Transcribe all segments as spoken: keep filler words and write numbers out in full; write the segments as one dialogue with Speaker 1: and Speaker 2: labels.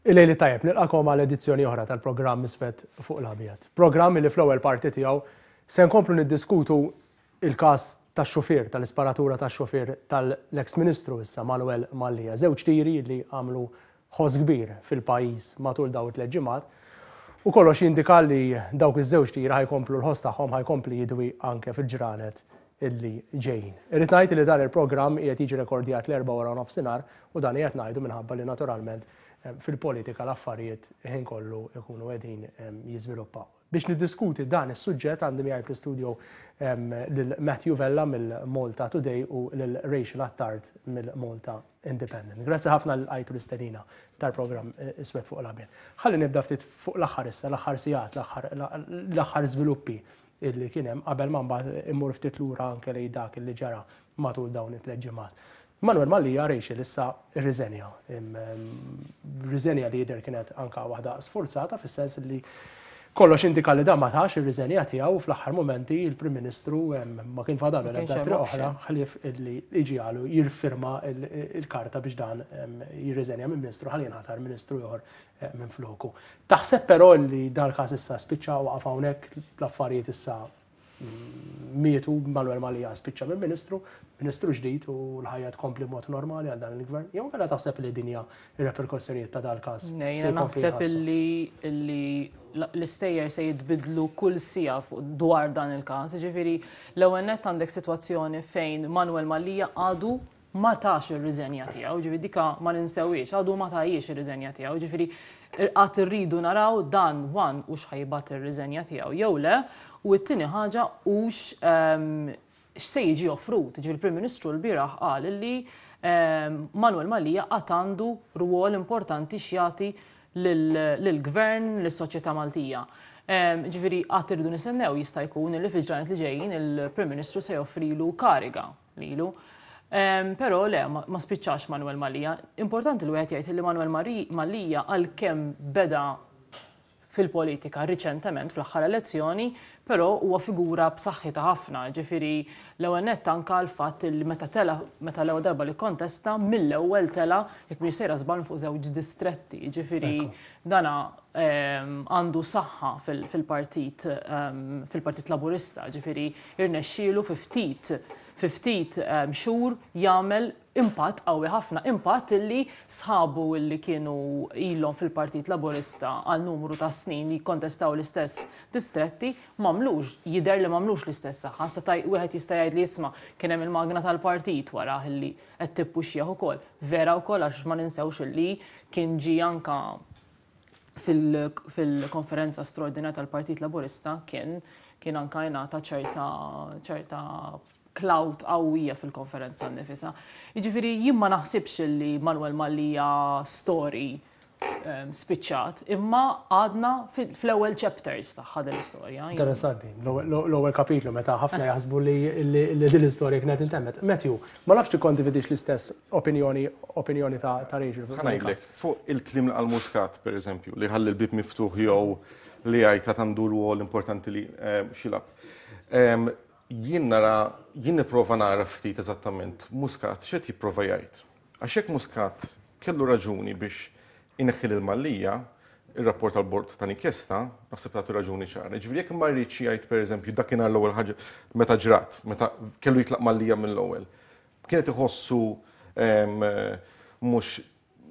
Speaker 1: Il-lejl it-tajjeb, nilqagħkom għal edizzjoni oħra tal-programm Iswed fuq l-Abjad. Programm li fl-ewwel parti tiegħu se nkomplu niddiskutu il-każ tax-xufier, tal-isparatura tax-xufier tal-ex Ministru issa Manuel Mallia. Żewġ tiri li għamlu ħoss kbir fil-pajjiż matul dawn it-tliet ġimgħat. U kollox jindika li dawk iż-żewġ tiri ħa jkomplu l-ħoss tagħhom ħa jkompli jidwi anke fil-ġranet illi ġejjin. Irrid ngħid li dan il-programm qiegħed jiġi rekordjat l-Erbgħa wara nofsinhar u dan qiegħed ngħidu minħabba li naturalment fil-politika l-affarijiet ħin kollu ikunu qegħdin jiżviluppaw. Biex niddiskuti dan is-suġġett għandi miegħi fl-istudio lil Matthew Vella mill-Malta Today u lil Rachel Attard mill-Malta Independent. Grazzi ħafna li lqajtu l-istedina tal-programm Iswed fuq l-Abjad. Ħalli nibda ftit fuq l-aħħar issa, l-aħħar sigħat, l-aħħar żviluppi illi kien hemm qabel ma mbagħad immur ftit lura anke lejn dak illi ġara matul dawn it-tliet ġimgħat. Manuel Mallia, Rachel, issa rriżenja. Riżenja li jidher kienet anka waħda sforzata, fis-sens li kollox indika li dan ma tax ir-riżenja tiegħu fl-aħħar momenti il-Prim Ministru ma kien fadalu l-ebda triq oħra ħlief illi iġiegħlu jirfirma il-karta biex dan jirriżenja minn Ministru ħalli jinħatar Ministru ieħor minn floku. Taħseb però li dal-każ issa spiċċa, waqaf hawnhekk, l-affarijiet issa mietu, Manuel Mallia spiċċa minn Ministru, Ministru ġdid u l-ħajja tkompli mod normali għal dan il-gvern? Jew għala taħseb li dinja ir-reperkussjonijiet ta' dal-każ?
Speaker 2: Jiena naħseb illi l-istejjer se jitbidlu kull siegħa fuq dwar dan il-każ. Ġifieri l-ewwel nett għandek sitwazzjoni fejn Manuel Mallia għadu ma tax ir-riżenja tiegħu, ġifieri dika ma ninsewiex, għadu ma tajiex ir-riżenja tiegħu, ġifieri għad irridu naraw dan one hux ħa jibgħat ir-riżenja tiegħu jew le, u t-tieni ħaġa hux x'se jiġi offrut. Ġifieri il-Prim Ministru l-bieraħ qal li Manuel Mallia għad għandu rwol importanti x'jagħti lill-gvern, lis-soċjetà Maltija. Ġifieri għad irridu nistennew, jista' jkun li fil-ġranet li ġejjin il-Prim Ministru se joffrilu kariga lilu. Però le, ma spiċċax Manuel Mallia. Importanti li wieħed jgħid li Manuel Mallia, għalkemm beda fil-politika riċentement fl-aħħar elezzjoni, però huwa figura b'saħħitha ħafna. Ġifieri l-ewwel nett anka l-fatt li meta tela, meta l-ewwel darba li kontesta, mill-ewwel tela, jekk mhix sejra żball, fuq żewġ distretti. Ġifieri dana għandu saħħa fil-partit fil-Partit Laburista, ġifieri irnexxielu fi ftit fi ftit xhur jagħmel impatt qawwi ħafna, impatt illi sħabu illi kienu ilhom fil-Partit Laburista għal numru ta' snin li jikkontestaw l-istess distretti m'għamlux, jidher li m'għamlux l-istess saħħa. Sa wieħed jista' jgħid li isma' kien hemm il-magna tal-partit wara illi qed tippuxjah ukoll. Vera wkoll, għax ma ninsewx illi kien ġi anka fil-konferenza straordinarja tal-Partit Laburista, kien kien anka jingħata ċerta ċerta clout qawwija fil-konferenza nnifisha. Jiġifieri jien ma naħsibx li Manuel Mallia story spiċċat, imma għadna fl-ewwel chapters tagħha din l-istorja.
Speaker 1: Interessanti, l-ewwel kapitlu meta ħafna jaħsbu li din l-istorja kienet intemmet. Matthew, ma nafx tikkondividix l-istess opinjoni opinjoni ta' Rachel.
Speaker 3: Ħa ngħidlek, fuq il-kliem li qal Muscat, per eżempju, li ħalli l-bib miftuħ jew li għajta għandu rwol importanti li x'jilgħab. Jien nara, jien nipprova nara ftit eżattament Muscat x'qed jipprova jgħid. Għax hekk Muscat kellu raġuni biex ineħħi lil Mallia, ir-rapport tal-bord tal-inkjesta naħseb tagħti raġuni ċara. Ġifieri jekk ma rridx jgħid, pereżempju, dakinhar l-ewwel ħaġa meta ġrat, meta kellu jitlaq Mallia mill-ewwel, kienet iħossu mhux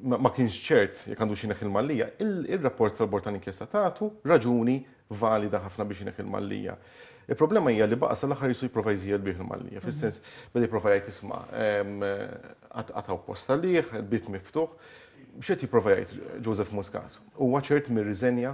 Speaker 3: ma kienx ċert jekk għandu xi il-Mallia, il-rapport tal-bord tal-inkjesta tagħtu raġuni valida ħafna biex ineħħi il-Mallia. Il-problema hija li baqa' sal-aħħar jisu jipprova jżiegħel bih il-Mallia, fis-sens beda jipprova jgħid isma' għataw posta liħ, il-bib miftuħ. X'qed jipprova jgħid Joseph Muscat? Huwa ċert mir-riżenja?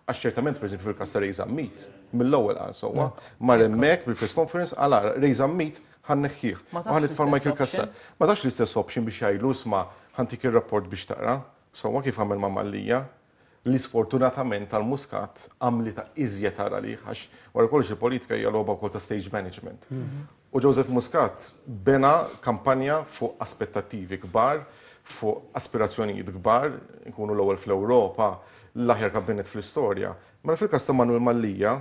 Speaker 3: Għax ċertament, pereżempju, fil-każ ta' Ray Zammit, mill-ewwel qal sewwa, mar hemmhekk bil-press conference għal ara Ray Zammit ħa nneħħih. Ħa nitfa' Michael Cassar. Ma tax l-istess option biex jgħidlu isma' ħa ntik ir-rapport biex taqra. Sewwa kif għamel ma' Mallia, li sfortunatament tal-Muscat għamlita iżjed tara li għax wara kollox il-politika hija logħba wkoll ta' stage management. U Joseph Muscat bena kampanja fuq aspettattivi kbar, fuq aspirazzjonijiet kbar, nkunu l-ewwel fl-Ewropa, l-aħjar kabinet fl-istorja. Mela fil-każ ta' Manuel Mallia,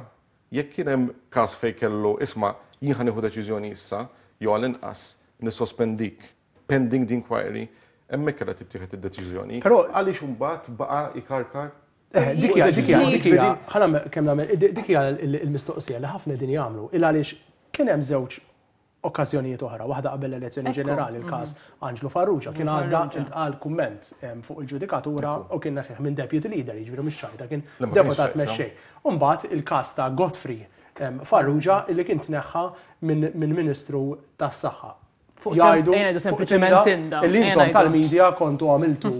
Speaker 3: jekk kien hemm każ fejn kellu isma' jien ħa nieħu deċiżjoni issa, jew għall-inqas nissospendik pending the inquiry, Hemmhekk kellha tittieħed id-deċiżjoni.
Speaker 1: Però
Speaker 3: għaliex imbagħad baqa' ikarkar?
Speaker 1: Eh, dik hija dik hija dik hija ħa kemm nagħmel dik hija l-mistoqsija li ħafna din jagħmlu il għaliex kien hemm żewġ okkażjonijiet oħra, waħda qabel l-elezzjoni ġenerali, il-każ Anġlu Farrugia, kien għadda intqal kumment fuq il-ġudikatura u kien neħħih minn deputy leader, jiġifieri mhux ċajta, kien deputat mexxej. U mbagħad il-każ ta' Godfrey Farrugia illi kien tneħħa minn Ministru tas-Saħħa.
Speaker 2: Jgħidu sempliċement tinda.
Speaker 1: Illi intom tal-medja kontu għamiltu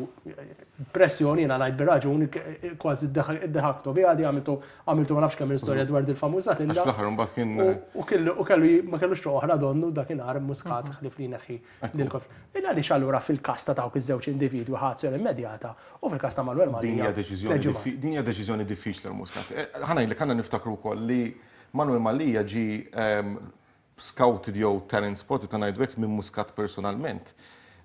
Speaker 1: pressjoni, jiena ngħid bir-raġun, kważi iddeħaktu biha di, għamiltu għamiltu ma nafx kemm istorja dwar dil-famuża tinda.
Speaker 3: Għax fl-aħħar imbagħad kien
Speaker 1: U kellu kellu ma kellux triq oħra donnu dakinhar Muscat ħlief li jneħħi lil Godfrey. Illa għaliex allura fil-każ ta' dawk iż-żewġ individwi ħa azzjoni immedjata u fil-każ ta' Manuel Mallia.
Speaker 3: Din hija deċiżjoni din hija deċiżjoni diffiċli għal Muscat. Ħa ngħidlek, għandna niftakru wkoll li Manuel Mallia ġi scouted jew talent spotted ta' ngħidu hekk minn Muscat personalment.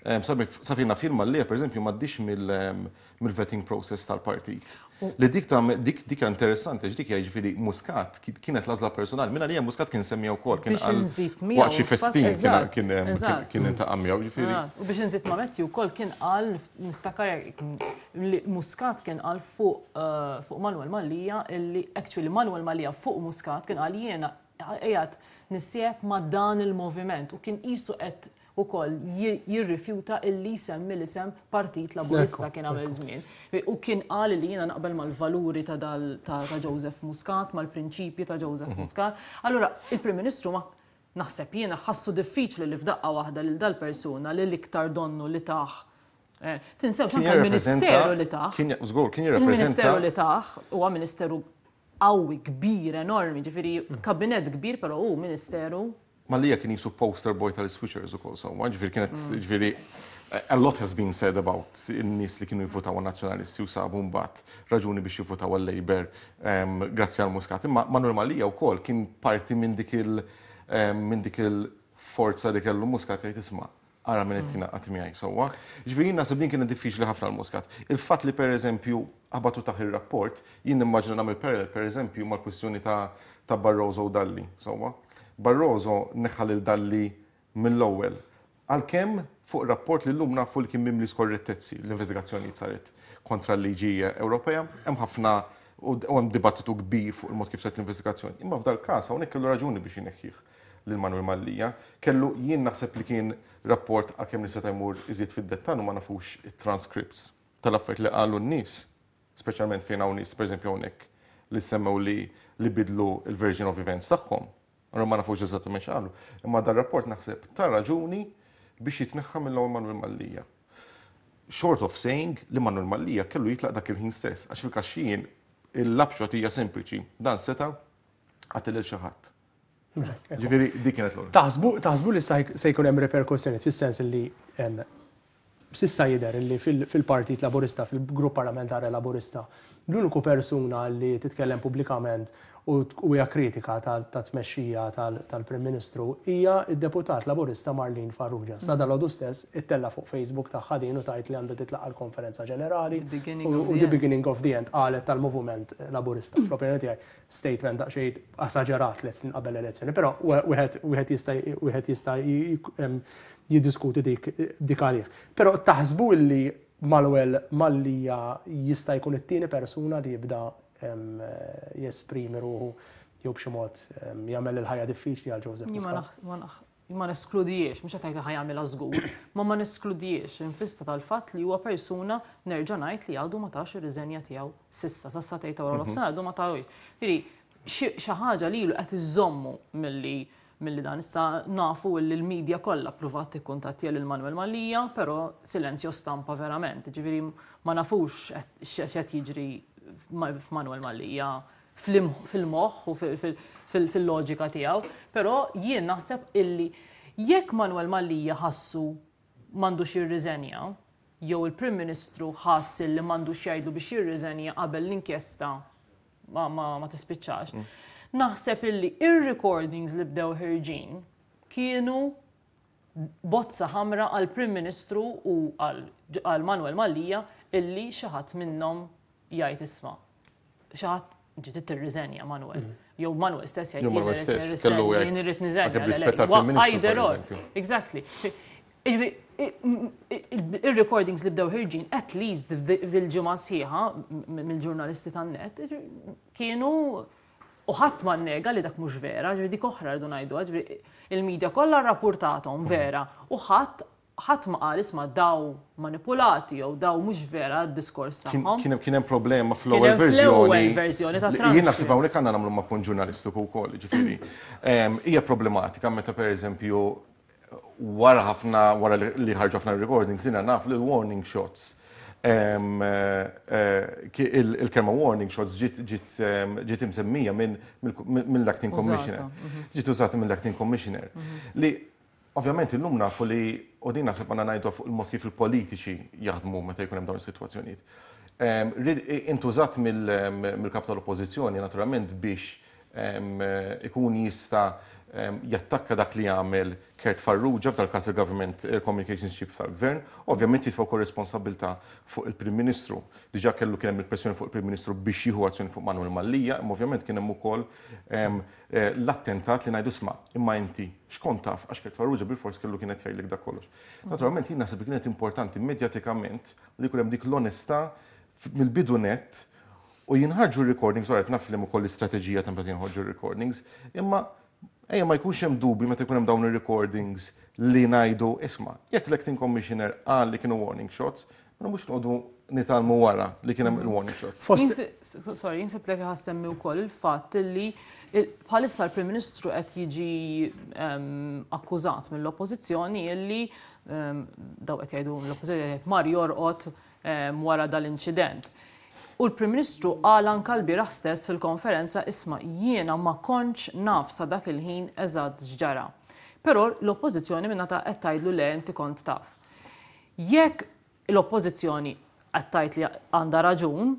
Speaker 3: Sa fejn naf Mallia, per eżempju, m'għaddix mill-vetting process tal-partit. Li dik ta' dik dik interessanti, dik hija, jiġifieri, Muscat kienet l-għażla personali. Minna li Muscat kien semmija wkoll, kien
Speaker 2: Biex inżid miegħu,
Speaker 3: waqt xi festin
Speaker 2: eżatt,
Speaker 3: kien
Speaker 2: eżatt.
Speaker 3: kien intaqa' miegħu, jiġifieri.
Speaker 2: U biex inżid ma' Matthew wkoll kien qal, niftakar li Muscat kien qal fuq eh, fuq Manuel Mallia illi actually Manuel Mallia fuq Muscat kien qal jiena qiegħed nissieb ma' dan il-moviment u kien qisu qed ukoll jirrifjuta illi jsemmi l-isem Partit Laburista kien għamel żmien. U kien qal li jiena naqbel mal-valuri ta' dal ta' ta' Joseph Muscat, mal-prinċipji ta' Joseph Muscat. Allura, il-Prim Ministru ma naħseb jiena ħassu diffiċli li f'daqqa waħda lil dal-persuna li l-iktar donnu li taħ. Eh, Tinsewx
Speaker 3: Kien
Speaker 2: anke l-Ministeru
Speaker 3: jirrappreżenta-
Speaker 2: li taħ.
Speaker 3: Kien żgur, kien jirrappreżenta
Speaker 2: Il-Ministeru li taħ huwa ministeru qawwi, kbir, enormi, ġifieri kabinet kbir, però hu ministeru.
Speaker 3: Mallia kien qisu poster boy tal-switchers ukoll, so, ġifieri kienet, ġifieri, a lot has been said about in-nies li kienu jivvotaw għal-nazzjonalisti u sabu mbagħad raġuni biex jivvotaw għal-Labour em, grazzi għal Muscat. Imma Manuel Mallia wkoll kien parti minn dik il em, minn dik il-forza li kellu Muscat jgħid, "Isma', ara minn qed tingħaqad miegħi," sewwa. Ġifieri jien naħseb din kienet diffiċli ħafna l-Muscat. Il-fatt li pereżempju ħabatu taħ ir-rapport, jien nimmaġina nagħmel parallel pereżempju mal-kwistjoni ta' ta' Barroso u Dalli, sewwa. Barroso neħħa lil Dalli mill-ewwel. Għalkemm fuq rapport li llum nafu li kien mimli skorrettezzi, l-investigazzjoni saret kontra l-liġi Ewropea, hemm ħafna u u hemm dibattitu kbir fuq il-mod kif saret l-investigazzjoni. Imma f'dal każ hawnhekk kellu raġuni biex ineħħih lil Manuel Mallia. Kellu, jien naħseb li kien rapport, għalkemm li seta' jmur iżjed fid-dettall u ma nafux it-transcripts tal-affarijiet li qalu n-nies, speċjalment fejn hawn nies, pereżempju hawnhekk li semmew li li bidlu il-version of events tagħhom. Allora ma nafux eżattament x'qalu. Imma dar rapport naħseb ta' raġuni biex jitneħħa mill-ewwel Manuel Mallia. Short of saying li Manuel Mallia kellu jitlaq dak il-ħin stess, għax fil-kaxxin il-lapshot hija sempliċi. Dan seta' qatel lil xi ħadd. Ġifieri dik kienet l
Speaker 1: Taħsbu taħsbu li se jkun hemm reperkussjoni fis-sens li em, s'issa jidher li fil- fil-Partit Laburista, fil-Grupp Parlamentari Laburista, l-uniku persuna li titkellem pubblikament u u hija kritika tal- ta' tmexxija tal- tal-Prim Ministru hija id-deputat Laburista Marlene Farrugia. Sa dalgħodu stess ittella' fuq Facebook tagħha din u tgħid li għandha titlaqa' l-konferenza ġenerali
Speaker 2: The beginning
Speaker 1: u
Speaker 2: of
Speaker 1: u
Speaker 2: the
Speaker 1: the
Speaker 2: end.
Speaker 1: beginning of the end qalet tal-moviment Laburista. Fl-opinjoni tiegħi statement daqsxejn esaġerat tliet snin qabel l-elezzjoni, però wieħed wieħed jista' wieħed jista' em, jiddiskuti dik dik għalih. Però taħsbu illi Manuel Mallia jista' jkun it-tieni persuna li jibda em, jesprimi ruħu jew b'xi mod em, jagħmel il-ħajja diffiċli għal Joseph
Speaker 2: Jien ma
Speaker 1: Muscat?
Speaker 2: naħ- ma naħ- ma neskludijiex, mhux qed ngħid ħa jagħmilha żgur, ma ma neskludijiex infista tal-fatt li huwa persuna, nerġa' ngħid, li għadu ma tax ir-riżenja tiegħu s'issa, s'issa tgħid wara nofsinhar għadu ma tawx. Jiġifieri xi xi ħaġa lilu qed iżommu milli milli dan. Issa nafu li l-medja kollha ppruvat tikkuntattja lil Manuel Mallia, però silenzio stampa verament. Ġifieri ma nafux x'qed jiġri f'Manuel Mallia fil-moħħ u fil-loġika tiegħu, però jien naħseb illi jekk Manuel Mallia ħassu m'għandux jirriżenja, jew il-Prim Ministru ħass illi m'għandux jgħidlu biex jirriżenja qabel l-inkjesta ma, ma, ma tispiċċax. Naħseb illi ir-recordings li bdew ħirġin kienu bozza ħamra għal Prim Ministru u għal Manuel Mallia illi xi ħadd minnhom jgħid, "Isma', xi ħadd ġiet tirriżenja, Manuel." Jew Manuel stess jgħid
Speaker 3: Jew Manuel stess kellu jgħid
Speaker 2: jien irrid niżenja.
Speaker 3: Anke b'rispett tal-Prim Ministru,
Speaker 2: Either
Speaker 3: per
Speaker 2: or.
Speaker 3: eżempju.
Speaker 2: Exactly. Jiġifieri, Il-recordings li bdew ħerġin, at least fil-ġimgħa sħiħa mill-ġurnalisti tan-NET, kienu u ħadd ma nnega li dak mhux vera, ġifieri dik oħra rridu ngħidu, ġifieri il-medja kollha rrapportathom vera u ħadd ħadd ma qal, "Isma', daw manipulati" jew "Daw mhux vera d-diskors tagħhom."
Speaker 3: Kien kien hemm problema fl-ewwel verżjoni.
Speaker 2: Fl-ewwel verżjoni ta'
Speaker 3: Jien naħseb hawnhekk għandna nagħmlu ma' punt ġurnalistiku wkoll, ġifieri. Hija problematika meta, pereżempju, wara ħafna, wara li ħarġu ħafna recordings, jiena naf li warning shots, eh, il-kelma warning shots ġiet ġiet imsemmija mill-acting commissioner. Mhm. Ġiet użata mill-acting commissioner. Mhm. Li ovvjament illum nafu li, u din naħseb għandna ngħidu fuq il-mod kif il-politiċi jaħdmu meta jkun hemm dawn is-sitwazzjonijiet. Intużat mill-kap tal-oppożizzjoni naturalment biex ikun jista' jattakka dak li jagħmel Kurt Farrugia, f'dal-każ il-Government Communications Chief tal-Gvern, ovvjament jitfa' wkoll responsabilità fuq il-Prim Ministru. Diġà kellu kien hemm il-pressjoni fuq il-Prim Ministru biex jieħu azzjoni fuq Manuel Mallia, imma ovvjament kien hemm ukoll eh, l-attentat li ngħidu, "Isma', imma inti x'kont taf?" għax Kurt Farrugia bil-fors kellu kienet jgħidlek dak kollox. Naturalment jien naħseb li kienet importanti medjatikament li jkun hemm dik l-onestà mill-bidu net u jinħarġu recordings, għaret naf li ukoll l-istrateġija ta' meta jinħarġu recordings, imma ejja ma jkunx hemm dubi meta jkun hemm dawn ir-recordings li ngħidu, "Isma', jekk l-acting commissioner qal li kienu warning shots, ma mhux noqogħdu nitgħallmu wara li kien hemm il-warning shot."
Speaker 2: Sorry, jinsib lek ħa nsemmi wkoll il-fatt li bħalissa l-Prim Ministru qed jiġi akkużat mill-Oppożizzjoni illi, daw qed jgħidu l-Oppożizzjoni, mar jorqod wara dal-inċident. U l-Prim Ministru qal anka l-bieraħ stess fil-konferenza, "Isma', jiena ma kontx naf sa dak il-ħin eżatt x'ġara." Però l-Oppożizzjoni minna ta' qed tgħidlu, "Le, inti kont taf." Jekk l-Oppożizzjoni qed tgħid li għandha raġun,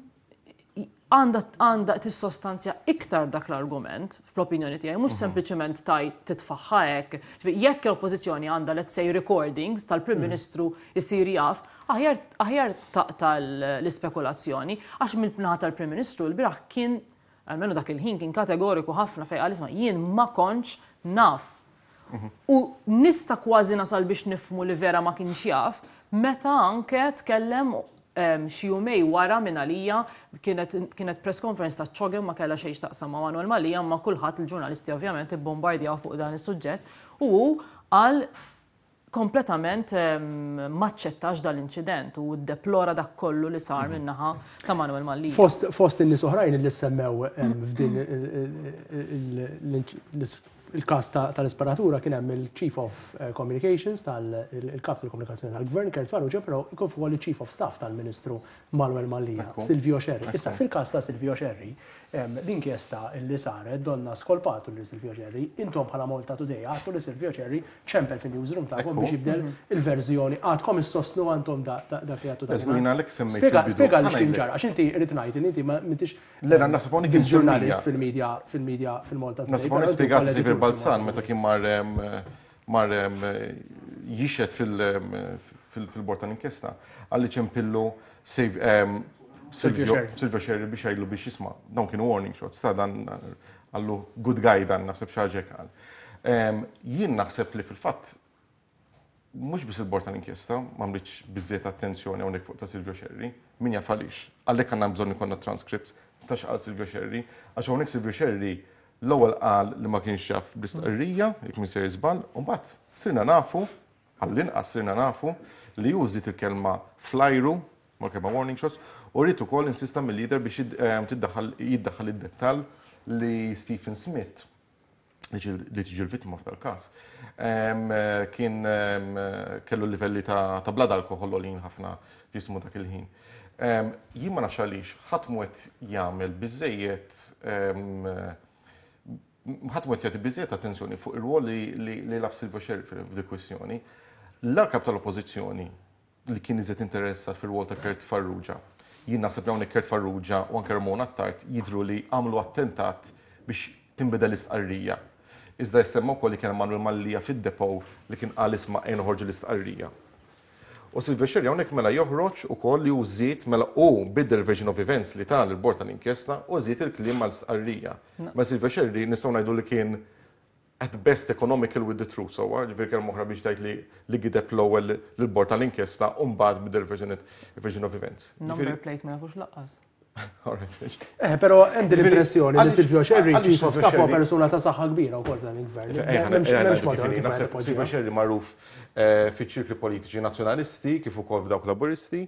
Speaker 2: għandha għandha tissostanzja iktar dak l-argument, fl-opinjoni tiegħi, mhux sempliċement taj titfaħħa hekk. Jekk l-Oppożizzjoni għandha, let's say, recordings tal-Prim Ministru jsir jaf, aħjar aħjar tal-ispekulazzjoni, għax mill-naħa tal-Prim Ministru l-bieraħ kien, almenu dak il-ħin, kien kategoriku ħafna fejn qal, "Isma', jien ma kontx naf." U nista' kważi nasal biex nifhmu li vera ma kienx jaf, meta anke tkellem xi jumej wara minn għalija kienet, kienet press conference ta' CHOGM, ma kellha xejn taqsam ma' Manuel Mallia, ma kulħadd, il-ġurnalisti ovvjament ibbombardjaw fuq dan is-suġġett u qal kompletament maċċettax dal-inċident u deplora dak kollu li sar minnaħa ta' Manuel Mallia.
Speaker 1: Fost, fost in-nies oħrajn li semmew f'din il-kas tal-isparatura kien hemm il-Chief of eh, Communications, tal-kap tal-komunikazzjoni tal-Gvern, Kurt Farrugia, però ikun fuq il-Chief of Staff tal-Ministru Manuel Mallia, Silvio Scerri. Issa, fil-kas ta' Silvio Scerri, l-inkjesta li saret donna skolpatu li Silvio Scerri, intom bħala Malta Today għedtu li Silvio Scerri ċempel fin-newsroom tagħkom biex jibdel il-verżjoni. Għadkom issostnu għantom dak li għedtu? Spjega li x'kien ġara, għax inti rrid ngħid li inti ma m'intix ġurnalist fil-media fil-media fil-Malta
Speaker 3: Today. Naħseb spjegat Saviour Balzan meta kien mar mar jixhed fil-bord tal-inkjesta, għalli ċempillu Silvio Scerri biex jgħidlu biex, "Isma', dawn kienu warning shots, ta' dan għallu good guy dan", naħseb xi ħaġa qal. Jien naħseb li fil-fatt mhux biss il-bord tal-inkjesta ma mritx biżżejjed attenzjoni hawnhekk fuq ta' Silvio Scerri, min jaf għaliex. Għalhekk għandna bżonn ikollna transcripts ta' x'qal Silvio Scerri, għax hawnhekk Silvio Scerri l-ewwel qal li ma kienx jaf bl-istqarrija, jekk minn sejjer żball, u mbagħad sirna nafu, għall-inqas sirna nafu li użat il-kelma flajru mal-kelma warning shots, u rrid ukoll insista mill-leader biex tiddaħħal jiddaħħal id-dettall li Stephen Smith, li tiġi l-vittma f'dal każ, kien kellu livelli ta' blood alcohol għolin ħafna f'ġismu dak il-ħin. Jien ma nafx għaliex ħadd mhu qed jagħmel biżejjed, ħadd mhu qed jagħti biżejjed attenzjoni fuq ir-rwol li lagħab Silvio Scerri f'dik kwistjoni. L-kap tal-Oppożizzjoni li kien iżjed interessat fir-rwol ta' Kurt Farrugia. Jien naħseb li hawnhekk Kurt Farrugia u anke Ramona Attard jidru li għamlu attentat biex tinbidel l-istqarrija. Iżda jissemma wkoll li kien Manuel Mallia fid-depot li kien qal, "Isma', ejja noħorġu l-istqarrija." U Silvio Scerri hawnhekk mela joħroġ ukoll li hu żied, mela u biddel version of events li tal il-bord tal-inkjesta u żied il-kliem mal-istqarrija. Ma Silvio Scerri nistgħu ngħidu li kien at best economical with the truth, so ġifieri kelma oħra biex tgħid li li gideb l-ewwel lill-bord tal-inkjesta u mbagħad bidel version version of events.
Speaker 2: Number plate ma jafux lanqas.
Speaker 3: All right.
Speaker 1: Eh, però hemm din l-impressjoni li Silvio Scerri,
Speaker 3: Għaliex
Speaker 1: chief of
Speaker 3: Silvio
Speaker 1: staff, huwa
Speaker 3: Scerri-
Speaker 1: persuna ta' saħħa kbira wkoll f'dan il-gvern. M'hemmx m'hemmx madwar kif qed
Speaker 3: Silvio
Speaker 1: ipoġġiha.
Speaker 3: Scerri magħruf eh, fiċ-ċirkli politiċi nazzjonalisti kif ukoll f'dawk laburisti.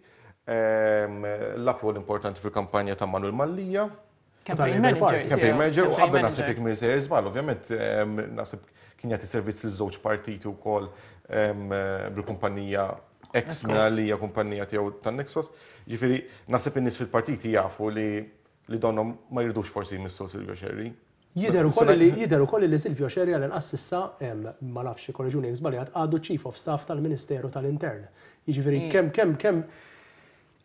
Speaker 3: Ehm, Lagħab rwol importanti fil-kampanja ta' Manuel Mallia.
Speaker 2: Campaign
Speaker 1: Tal-Labour
Speaker 2: manager.
Speaker 1: Party.
Speaker 3: Campaign manager u
Speaker 2: Campaign
Speaker 3: qabel naħseb
Speaker 2: manager.
Speaker 3: jekk minn sejjer żball, ovvjament ehm, naħseb kien jagħti servizz lil żewġ partiti wkoll ehm, bil-kumpanija ex Mallia, kumpanija tiegħu tan-Nexos. Ġifieri naħseb in-nies fil-partiti jafu li li donhom ma jridux forsi jmissu Silvio Scerri.
Speaker 1: Jidher ukoll li jidher ukoll li Silvio Scerri għal-inqas s'issa em, ma nafx korreġuni jekk żbaljat, għadu Chief of Staff tal-Ministeru tal-Intern. Jiġifieri kemm kemm kemm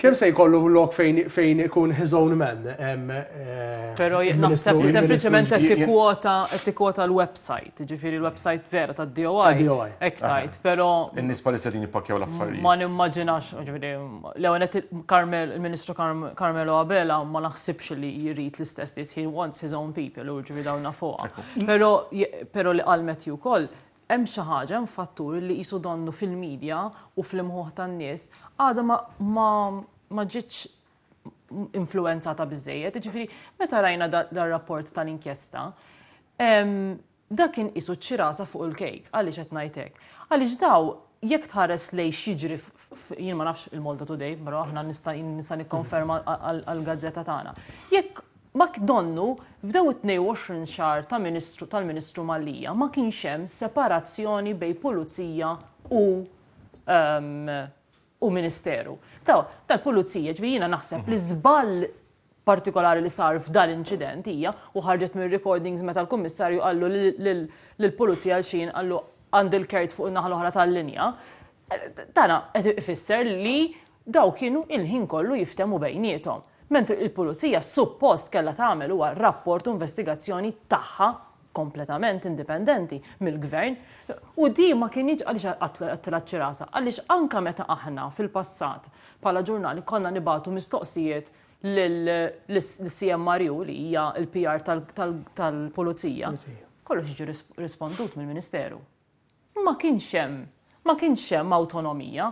Speaker 1: kemm se jkollu lok fejn fejn ikun his own man. em, eh,
Speaker 2: Pero
Speaker 1: il-Ministru-
Speaker 2: naħseb
Speaker 1: il-Ministru
Speaker 2: sempliċement qed
Speaker 3: Jien-
Speaker 2: tikkwota qed tikkwota l-website, ġifieri l-website vera tad-D O I.
Speaker 1: Tad-D O I.
Speaker 2: Hekk tajt, però
Speaker 3: In-nies palissa din jippakkjaw l-affarijiet.
Speaker 2: ma nimmaġinax, ġifieri, l-ewwel qed Carmel, il-Ministru Carm- Carmelo Abela ma naħsibx li jrid l-istess nies, he wants his own people, u ġifieri dawna fuqha. Però però li qal Matthew ukoll, hemm xi ħaġa, hemm fattur li qisu donnu fil-medja u fl-imħuħ tan-nies għadha ma ma ma ġietx influenzata biżejjed. Ġifieri, meta rajna da- dar-rapport tal-inkjesta, em, dak kien qisu ċirasa fuq il-kejk. Għaliex qed ngħidlek? Għaliex daw jekk tħares lej x'jiġri, jien ma nafx il-Malta Today, però aħna nista' nista' nikkonferma għall-gazzetta tagħna. Jekk ma donnu f'daw it-tnejn u għoxrin xahar ta' ministru tal-Ministru Mallia ma kienx hemm separazzjoni bejn pulizija u um, u ministeru. Taw, tal-pulizija, ġifieri jiena naħseb li żball partikolari li sar f'dal inċident hija u ħarġet minn recordings meta l-kummissarju qallu lill-pulizija l xin qallu għand il-kert fuq in-naħa l-oħra tal-linja. Dana qed ifisser li daw kienu il-ħin kollu jiftemu bejniethom. Mentri il-pulizija suppost kellha tagħmel huwa rapport u investigazzjoni tagħha kompletament indipendenti mill-gvern. U di ma kienx, għaliex għattilha ċirasa, għaliex anka meta aħna fil-passat bħala ġurnali konna nibagħtu mistoqsijiet l-C M R U li hija il-P R tal-pulizija. Kollox jiġi rispondut mill-Ministeru. Ma kienx hemm, ma kienx hemm autonomija.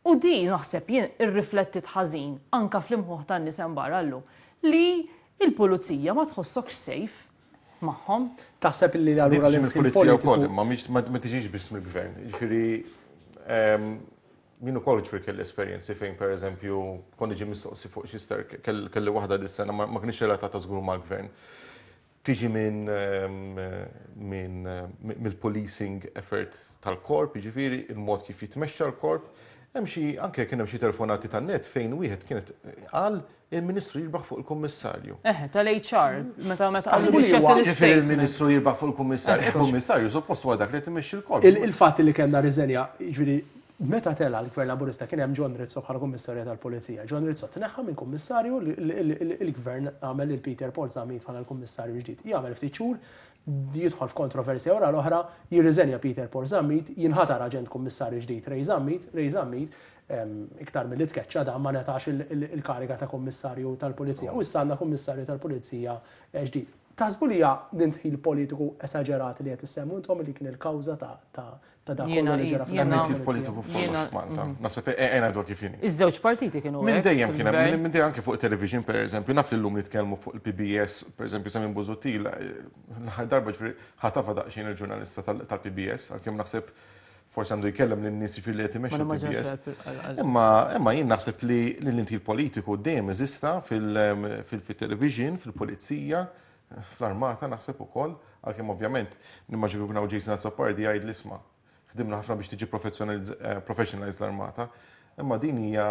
Speaker 2: U di naħseb jien irriflettit ħażin anka fl-imħuħ tan-nies hemm barra llum li il-pulizija ma tħossokx safe magħhom.
Speaker 1: Taħseb li allura
Speaker 3: li il-pulizija wkoll, imma ma tiġix biss mill-gvern. Ġifieri ehm, jien ukoll ġifieri kelli esperjenzi fejn, pereżempju, kont niġi mistoqsi fuq xi ster, kelli waħda dis-sena, ma kienx relatata żgur mal-gvern. Tiġi minn ehm, minn mill-policing effort tal-korp, ġifieri il-mod kif jitmexxa l-korp. Hemm xi anke kien hemm xi telefonati tan-net fejn wieħed kienet qal il-Ministru jirbaħ fuq il-Kummissarju.
Speaker 2: Eh, tal-H R, meta meta
Speaker 1: Taħsbu li huwa-
Speaker 3: Ġifieri il-Ministru jirbaħ fuq il-Kummissarju. Il-Kummissarju suppost huwa dak li timexxi l-korp.
Speaker 1: Il-fatt li kellna riżenja, ġifieri meta tela l-Gvern Laburista kien hemm John Rizzo bħala Kummissarju tal-Pulizija. John Rizzo tneħħa minn kummissarju, il-Gvern għamel il Peter Paul Zammit bħala l-Kummissarju ġdid. Jagħmel ftit xhur, jidħol f'kontroversja wara l-oħra, jirriżenja Peter Paul Zammit, jinħatar aġent kummissarju ġdid Ray Zammit, Ray Zammit iktar mill-li tkeċċa da ma ngħatax il-kariga ta' kummissarju tal-Pulizija. U issa għandna kummissarju tal-Pulizija eh, ġdid. Taħsbu li hija dindħil politiku esaġerat li qed issemmu intom li kien il-kawża ta' ta' dak kollu li ġara
Speaker 3: fil politiku f'kollox f'Malta. Naħseb ejja ngħidu kif inhi.
Speaker 2: Iż-żewġ partiti kienu.
Speaker 3: Minn dejjem kien hemm, minn dejjem anke fuq television, pereżempju, naf li llum nitkellmu fuq il-P B S, pereżempju Simon Busuttil, l-aħħar darba ġifieri ħatafa daqsxejn il-ġurnalista tal-P B S, għalkemm naħseb forsi għandu jkellem lin-nies ġifieri li qed imexxu l-P B S. Imma imma jien naħseb li l-indħil politiku dejjem eżista fil-television, fil-pulizija, fl-armata naħseb ukoll, għalkemm ovvjament nimmaġinu kien hawn Jason Azzopardi jgħid l-isma'. Ħdimna ħafna biex tiġi professionalize l-armata, imma din hija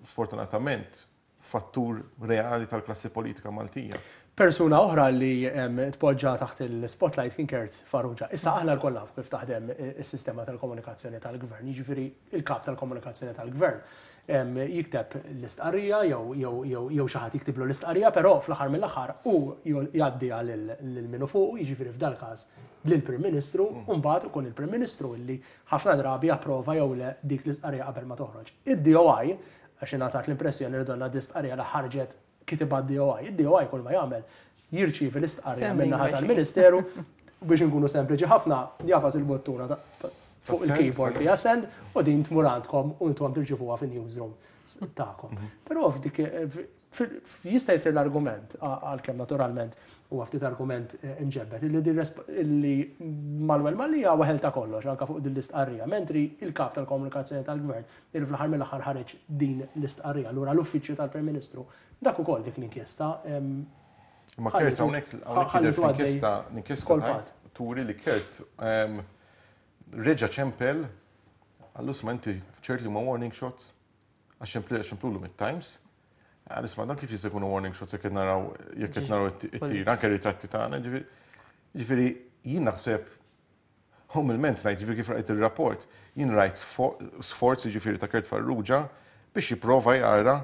Speaker 3: sfortunatament fattur reali tal-klassi politika Maltija.
Speaker 1: Persuna oħra li tpoġġa taħt il-spotlight kien Kurt Farrugia. Issa aħna lkoll nafu kif taħdem is-sistema tal-komunikazzjoni tal-gvern, jiġifieri il-kap tal-komunikazzjoni tal-gvern jikteb l-istqarrija jew xi ħadd jiktiblu l-istqarrija, però fl-aħħar mill-aħħar u jgħaddi lil minu fuq, jiġifieri f'dal każ lill-Prim Ministru, u mbagħad ikun il-Prim Ministru illi ħafna drabi approva jew le dik l-istqarrija qabel ma toħroġ. Id-D O I, għax ingħatat l-impressjoni li donna l-istqarrija li ħarġet kitibha D O I. Id-D O I kull ma jagħmel jirċievi l-istqarrija min-naħa tal-Ministeru. Biex nkunu sempliċi ħafna, jagħfas il-buttuna fuq il-keyboard li send u din tmur għandkom u intom tirċivuha fin-newsroom tagħkom. Però f'dik jista' jsir l-argument, għalkemm naturalment huwa ftit argument imġebbed, illi Manuel Mallia weħel ta' kollox anke fuq din l-istqarrija, mentri il-kap tal-komunikazzjoni tal-gvern il fl-aħħar mill-aħħar ħareġ din l-istqarrija, allura l-uffiċċju tal-Prim Ministru dak ukoll dik l-inkjesta.
Speaker 3: Ma Kurt hawnhekk hawnhekk jidher fl-inkjesta l-inkjesta turi li Kurt reġa' ċempel qallu, "Isma', inti ċert li huma warning shots?" Għax ċemplulu mit-Times. Qallu, "Isma', dan kif jista' jkunu warning shots jekk qed naraw jekk qed naraw it-tir, anke ritratti tagħna?" Ġifieri jien naħseb umilment ngħid, ġifieri kif rajt ir-rapport, jien rajt sforz, ġifieri, ta' Kurt Farrugia biex jipprova jara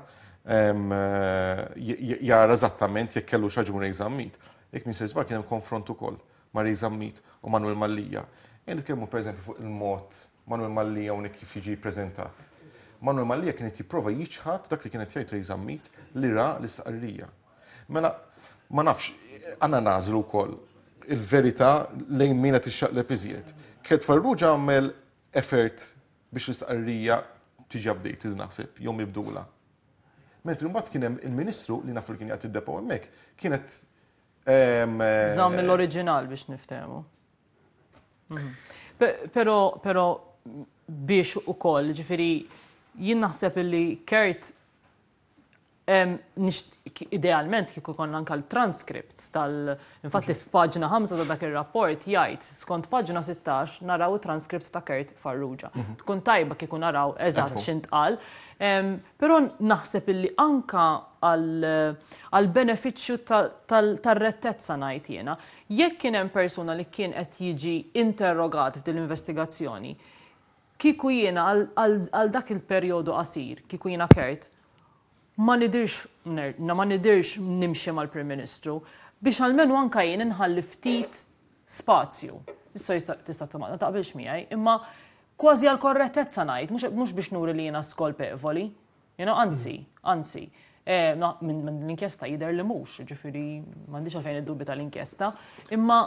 Speaker 3: jara eżattament jekk kellu raġun Ray Zammit. Jekk m'iniex żball, kien hemm konfront ukoll ma' Ray Zammit u Manuel Mallia. Jien nitkellmu, pereżempju, fuq il-mod Manuel Mallia hawnhekk kif jiġi preżentat. Manuel Mallia kienet jipprova jiċħad dak li kienet jgħid Ray Zammit li ra l-istqarrija. Mela, ma nafx, għandna nagħżlu wkoll il-verità lejn min qed ixxaqleb iżjed. Kurt Farrugia għamel effort biex l-istqarrija tiġi updated, naħseb, jew mibdula. Mentri mbagħad kien hemm il-Ministru li nafu li kien jagħti d-depo hemmhekk, kienet
Speaker 2: Żamm l-oriġinal biex niftehmu. Mhm. Però, però biex ukoll, ġifieri, jien naħseb illi Kurt idealment kieku konna anka l-transcripts tal. Infatti f'paġna ħamsa ta' dak ir-rapport jgħid, skont paġna sittax naraw transcript ta' Kurt Farrugia. Mhm. Tkun tajba kieku naraw eżatt x'intqal. Però naħseb illi anka għal benefiċċju tar-rettezza, ngħid jiena, jekk kien hemm persuna li kien qed jiġi interrogat f'din l-investigazzjoni, kieku jiena għal dak il-perjodu qasir, kieku jiena Kurt, ma nidirx ma nidirx nimxi mal-Prim Ministru biex almenu anka jien inħalli ftit spazju. Issa tista' ma taqbilx miegħi, imma kważi għal korrettezza ngħid, mhux biex nuri li jiena skolpevoli. You know, anzi, anzi. Eh, minn l-inkjesta jidher li mhux, ġifieri m'għandix għalfejn id-dubbi tal-inkjesta, imma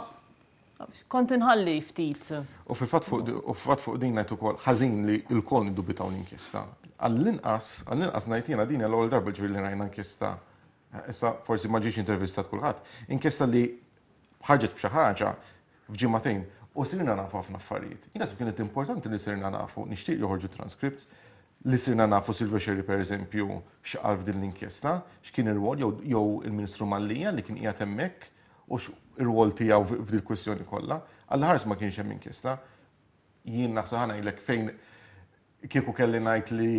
Speaker 2: kont inħalli ftit.
Speaker 3: U fil-fatt fuq din ngħid ukoll ħażin li lkoll niddubitaw l-inkjesta. Għall-inqas, għall-inqas ngħid jiena, din l-ewwel darba, ġifieri, li rajna inkjesta. Issa forsi ma ġiex intervistat kulħadd, inkjesta li ħarġet b'xi ħaġa f'ġimagħtejn u sirna nafu ħafna affarijiet. Jien naħseb kienet importanti li sirna nafu, nixtieq joħorġu transcripts, li sirna nafu Silvio Scerri, per eżempju, x'qal f'din l-inkjesta, x'kien ir-rwol jew il-Ministru Mallia li kien qiegħed hemmhekk u ir-rwol tiegħu f'dil kwestjoni kollha. Għall-ħars ma kienx hemm inkjesta. Jien naħseb, ħa ngħidlek, fejn kieku kelli ngħid li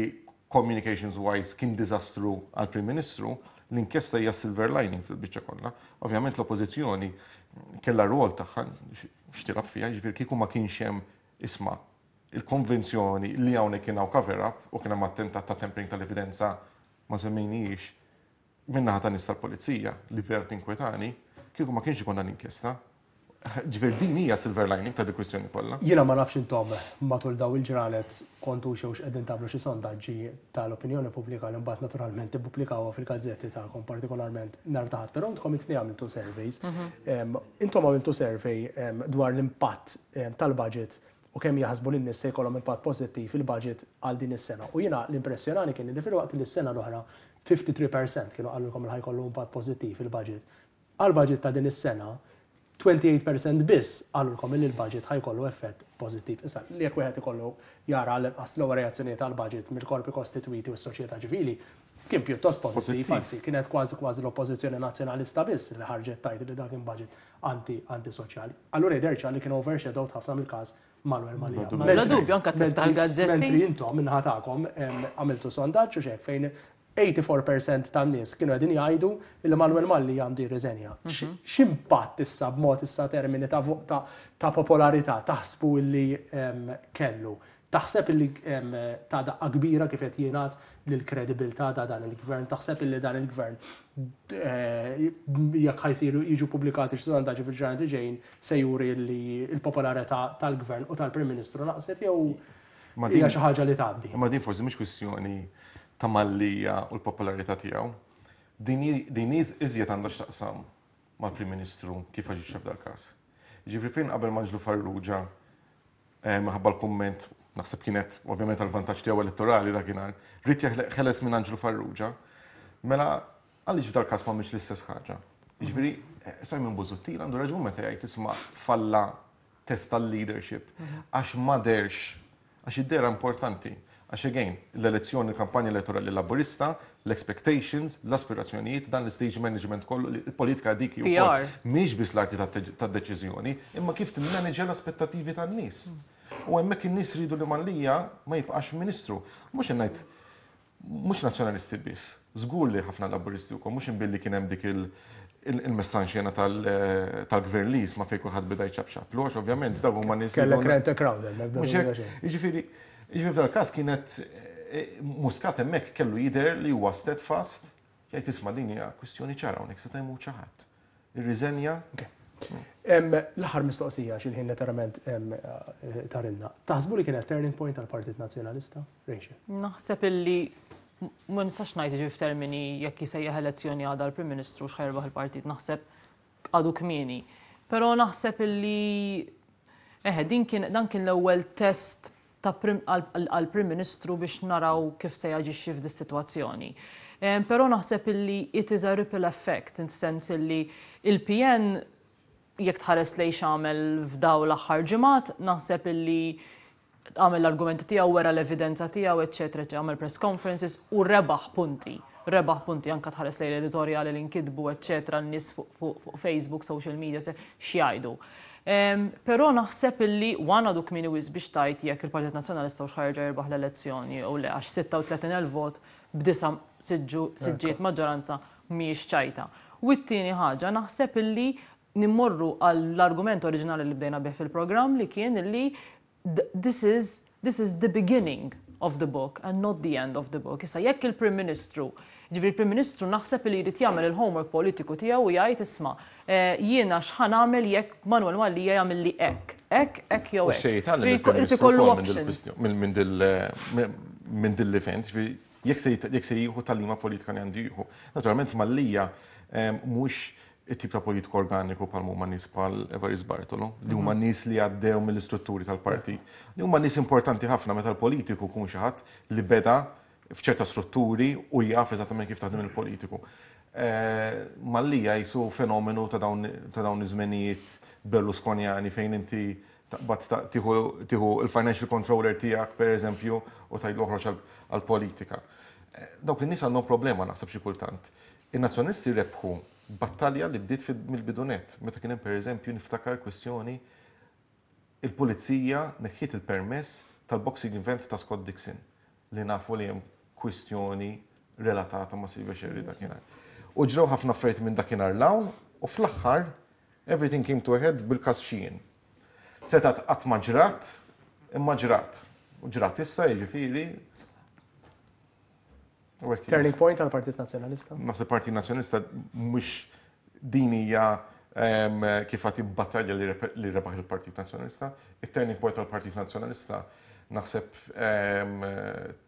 Speaker 3: communications wise kien diżastru għal-Prim Ministru, l-inkjesta hija silver lining fil-biċċa kollha. Ovvjament l-oppożizzjoni kellha rwol tagħha x'tilgħab fiha, ġifieri kieku ma kienx hemm, isma', il-konvenzjoni li hawnhekk kien hawn cover up u kien hemm attentat ta' tampering tal-evidenza, ma semmejnijiex, min-naħa ta' nies tal-pulizija li vera tinkwetani, kieku ma kienx ikun l-inkjesta. Ġifieri din hija silver lining ta' di kwistjoni kollha.
Speaker 1: Jiena ma nafx intom matul daw il-ġranet kontu xew x'qegħdin tagħmlu xi sondaġġi tal-opinjoni pubblika li mbagħad naturalment tippubblikkawha fil-gazzetti tagħkom, partikolarment nhar ta' Ħadd, però intkom it-tnejn għamiltu surveys. Intom għamiltu survey dwar l-impatt tal-budget u kemm jaħsbu li n-nies se jkollhom impatt pożittiv il-budget għal din is-sena. U jiena l-impressjonani kien li fil-waqt li s-sena l-oħra tlieta u ħamsin fil-mija kienu qalulkom li ħa jkollu impatt pożittiv il-budget. Għal-budget ta' din is-sena, tmintatax fil-mija biss qalulkom li l-budget ħa jkollu effett pożittiv. Issa, li jekk wieħed ikollu jara l-inqas l-ewwel reazzjonijiet tal-budget mill-korpi kostitwiti u s-soċjetà ċivili, kien pjuttost pożittiv, anzi kienet kważi kważi l-oppożizzjoni nazzjonalista biss li ħarġet tgħid li dak kien budget anti antisoċjali. Allura jidher li kien overshadowed ħafna mill-każ Manuel Mallia.
Speaker 2: Bla dubju, anka tal-gazzetti.
Speaker 1: Mentri intom min-naħa tagħkom għamiltu sondaġġ u xek fejn erbgħa u tmenin fil-mija tan-nies kienu qegħdin jgħidu li Manuel Mallia għandu jirriżenja. Mhm. X'impatt issa b'mod issa termini ta' ta' popolarità taħsbu li kellu? Taħseb illi ta' daqqa kbira, kif qed jingħad, lill-kredibilità ta' dan il-gvern? Taħseb illi dan il-gvern, eh, jekk ħa jsiru jiġu pubblikati xi sondaġġi fil-ġranet li ġejjin, se juri li l-popolarità tal-gvern u tal-Prim Ministru naqset jew hija xi ħaġa li tgħaddi?
Speaker 3: Ma din forsi mhix kwistjoni ta' Mallia u l-popolarità tiegħu. Din iżjed għandha x'taqsam mal-Prim Ministru kif aġixxa f'dal każ. Ġifieri fejn qabel Anġlu Farrugia minħabba l-kumment, naħseb kienet ovvjament għal vantaġġ tiegħu elettorali dakinhar, ried jeħles minn Anġlu Farrugia, mela għaliex f'dal-każ ma mhix l-istess ħaġa. Ġifieri Simon Busuttil għandu raġun meta jgħid isma' falla test tal-leadership għax ma deherx, għax id-dehra importanti. Għax again, l-elezzjoni, l-kampanja elettorali laburista, l-expectations, l-aspirazzjonijiet, dan l-stage management kollu, il-politika dik
Speaker 2: P R.
Speaker 3: mhix biss l-arti tad-deċiżjoni, imma kif timmanagja l-aspettativi tan-nies. U hemmhekk in-nies ridu li Mallia ma jibqax ministru. Mhux ngħid mhux nazzjonalisti biss, żgur li ħafna laburisti wkoll, mhux imbilli kien hemm dik il-messaġġ jena tal-gvern li ma fejn kulħadd beda jċapċap. Għax ovvjament dawk huma nies.
Speaker 1: Kellek rent a crowd.
Speaker 3: Mhux hekk, jiġifieri, jiġifieri f'dal-każ kienet Muscat hemmhekk kellu jidher li huwa steadfast, jgħid isma' din hija kwistjoni ċara hawnhekk se jmut xi ħadd. Irriżenja.
Speaker 1: L-aħħar mistoqsija x'il-ħin letteralment tarinna. Taħsbu li kienet turning point tal-Partit Nazzjonalista? Rachel?
Speaker 2: Naħseb illi ma nistax ngħid ġi f'termini jekk jisejjaħ elezzjoni għadha l-Prim Ministru x'ħa jirbaħ il-partit, naħseb għadu kmieni. Però naħseb illi eħe, din kien dan kien l-ewwel test ta' għal-Prim Ministru biex naraw kif se jaġixxi f'dis sitwazzjoni. Però naħseb illi it is a ripple effect, in sens illi il-P N jekk tħares lejn x'għamel f'daw l-aħħar ġimgħat, naħseb illi għamel l-argumenti tiegħu, wera l-evidenza tiegħu, eċetera, għamel press conferences u rebaħ punti. Rebaħ punti anka tħares lejn l-editorjali li nkitbu, eċetera, n-nies fuq Facebook, social media, x'jgħidu. Però naħseb illi one għadu kmieni wisq biex tgħid jekk il-Partit Nazzjonalista hux ħa jerġa' jirbaħ l-elezzjoni u le, għax sitta u tletin elf vot b'disa' siġġiet maġġoranza mhijiex ċajta. U t-tieni ħaġa, naħseb illi nimmorru għall-argument oriġinali li bdejna bih fil-programm, li kien illi this is, this is the beginning of the book and not the end of the book. Issa jekk il-Prim Ministru, ġifieri il-Prim Ministru naħseb li jrid jagħmel il-homework politiku tiegħu u jgħid isma' eh, jiena x'ħa nagħmel jekk Manuel Mallia jagħmel li hekk, hekk, hekk jew
Speaker 3: hekk.
Speaker 2: Irid ikollu options.
Speaker 3: Minn dil-event, jekk se jieħu tagħlima politika li għandu jieħu. Naturalment Mallia mhux it-tip ta' politiku organiku bħal huma nies bħal Evarist Bartolo, li huma mhm. nies li għaddew mill-istrutturi tal-partit. Li huma nies importanti ħafna meta l-politiku kun xi ħadd li beda f'ċerta strutturi u jaf eżattament kif taħdem il-politiku. Eh, Mallia jisu fenomenu ta' dawn iż-żmenijiet Berlusconjani fejn inti taqbad tieħu il-financial controller tiegħek, per eżempju, u tgħidlu oħroġ għal-politika. Eh, dawk in-nies għandhom problema naħseb xi kultant. In-nazzjonisti rebħu battalja li bdiet mill-bidu nett, meta kien hemm, pereżempju, niftakar kwestjoni, il-pulizija neħħiet il-permess tal-boxing event ta' Scott Dixon, li nafu li hemm kwistjoni relatata ma' Silvio Scerri dakinhar. U ġraw ħafna affarijiet minn dakinhar 'l hawn u fl-aħħar everything came to a head bil-każ Sheehan. Setat qatt ma ġrat, imma ġrat. U ġrat issa, jiġifieri.
Speaker 1: Turning point għal-Partit Nazzjonalista?
Speaker 3: Naħseb Partit Nazzjonalista mhux din hija kif għati battalja li rebaħ il-Partit Nazzjonalista. Il-turning point tal-Partit Nazzjonalista naħseb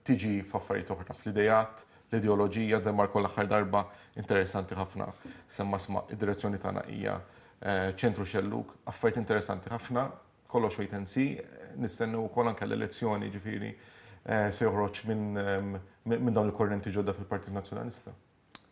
Speaker 3: tiġi f'affarijiet oħra, fl-idejat, l-ideoloġija. Demarco l-aħħar darba interessanti ħafna. Semma sma id-direzzjoni tagħna hija eh, ċentru xellug, affarijiet interessanti ħafna, kollox wait and see, nistennu wkoll anke l-elezzjoni, ġifieri eh, se joħroġ minn minn dawn il-korrenti ġodda fil-Partit Nazzjonalista.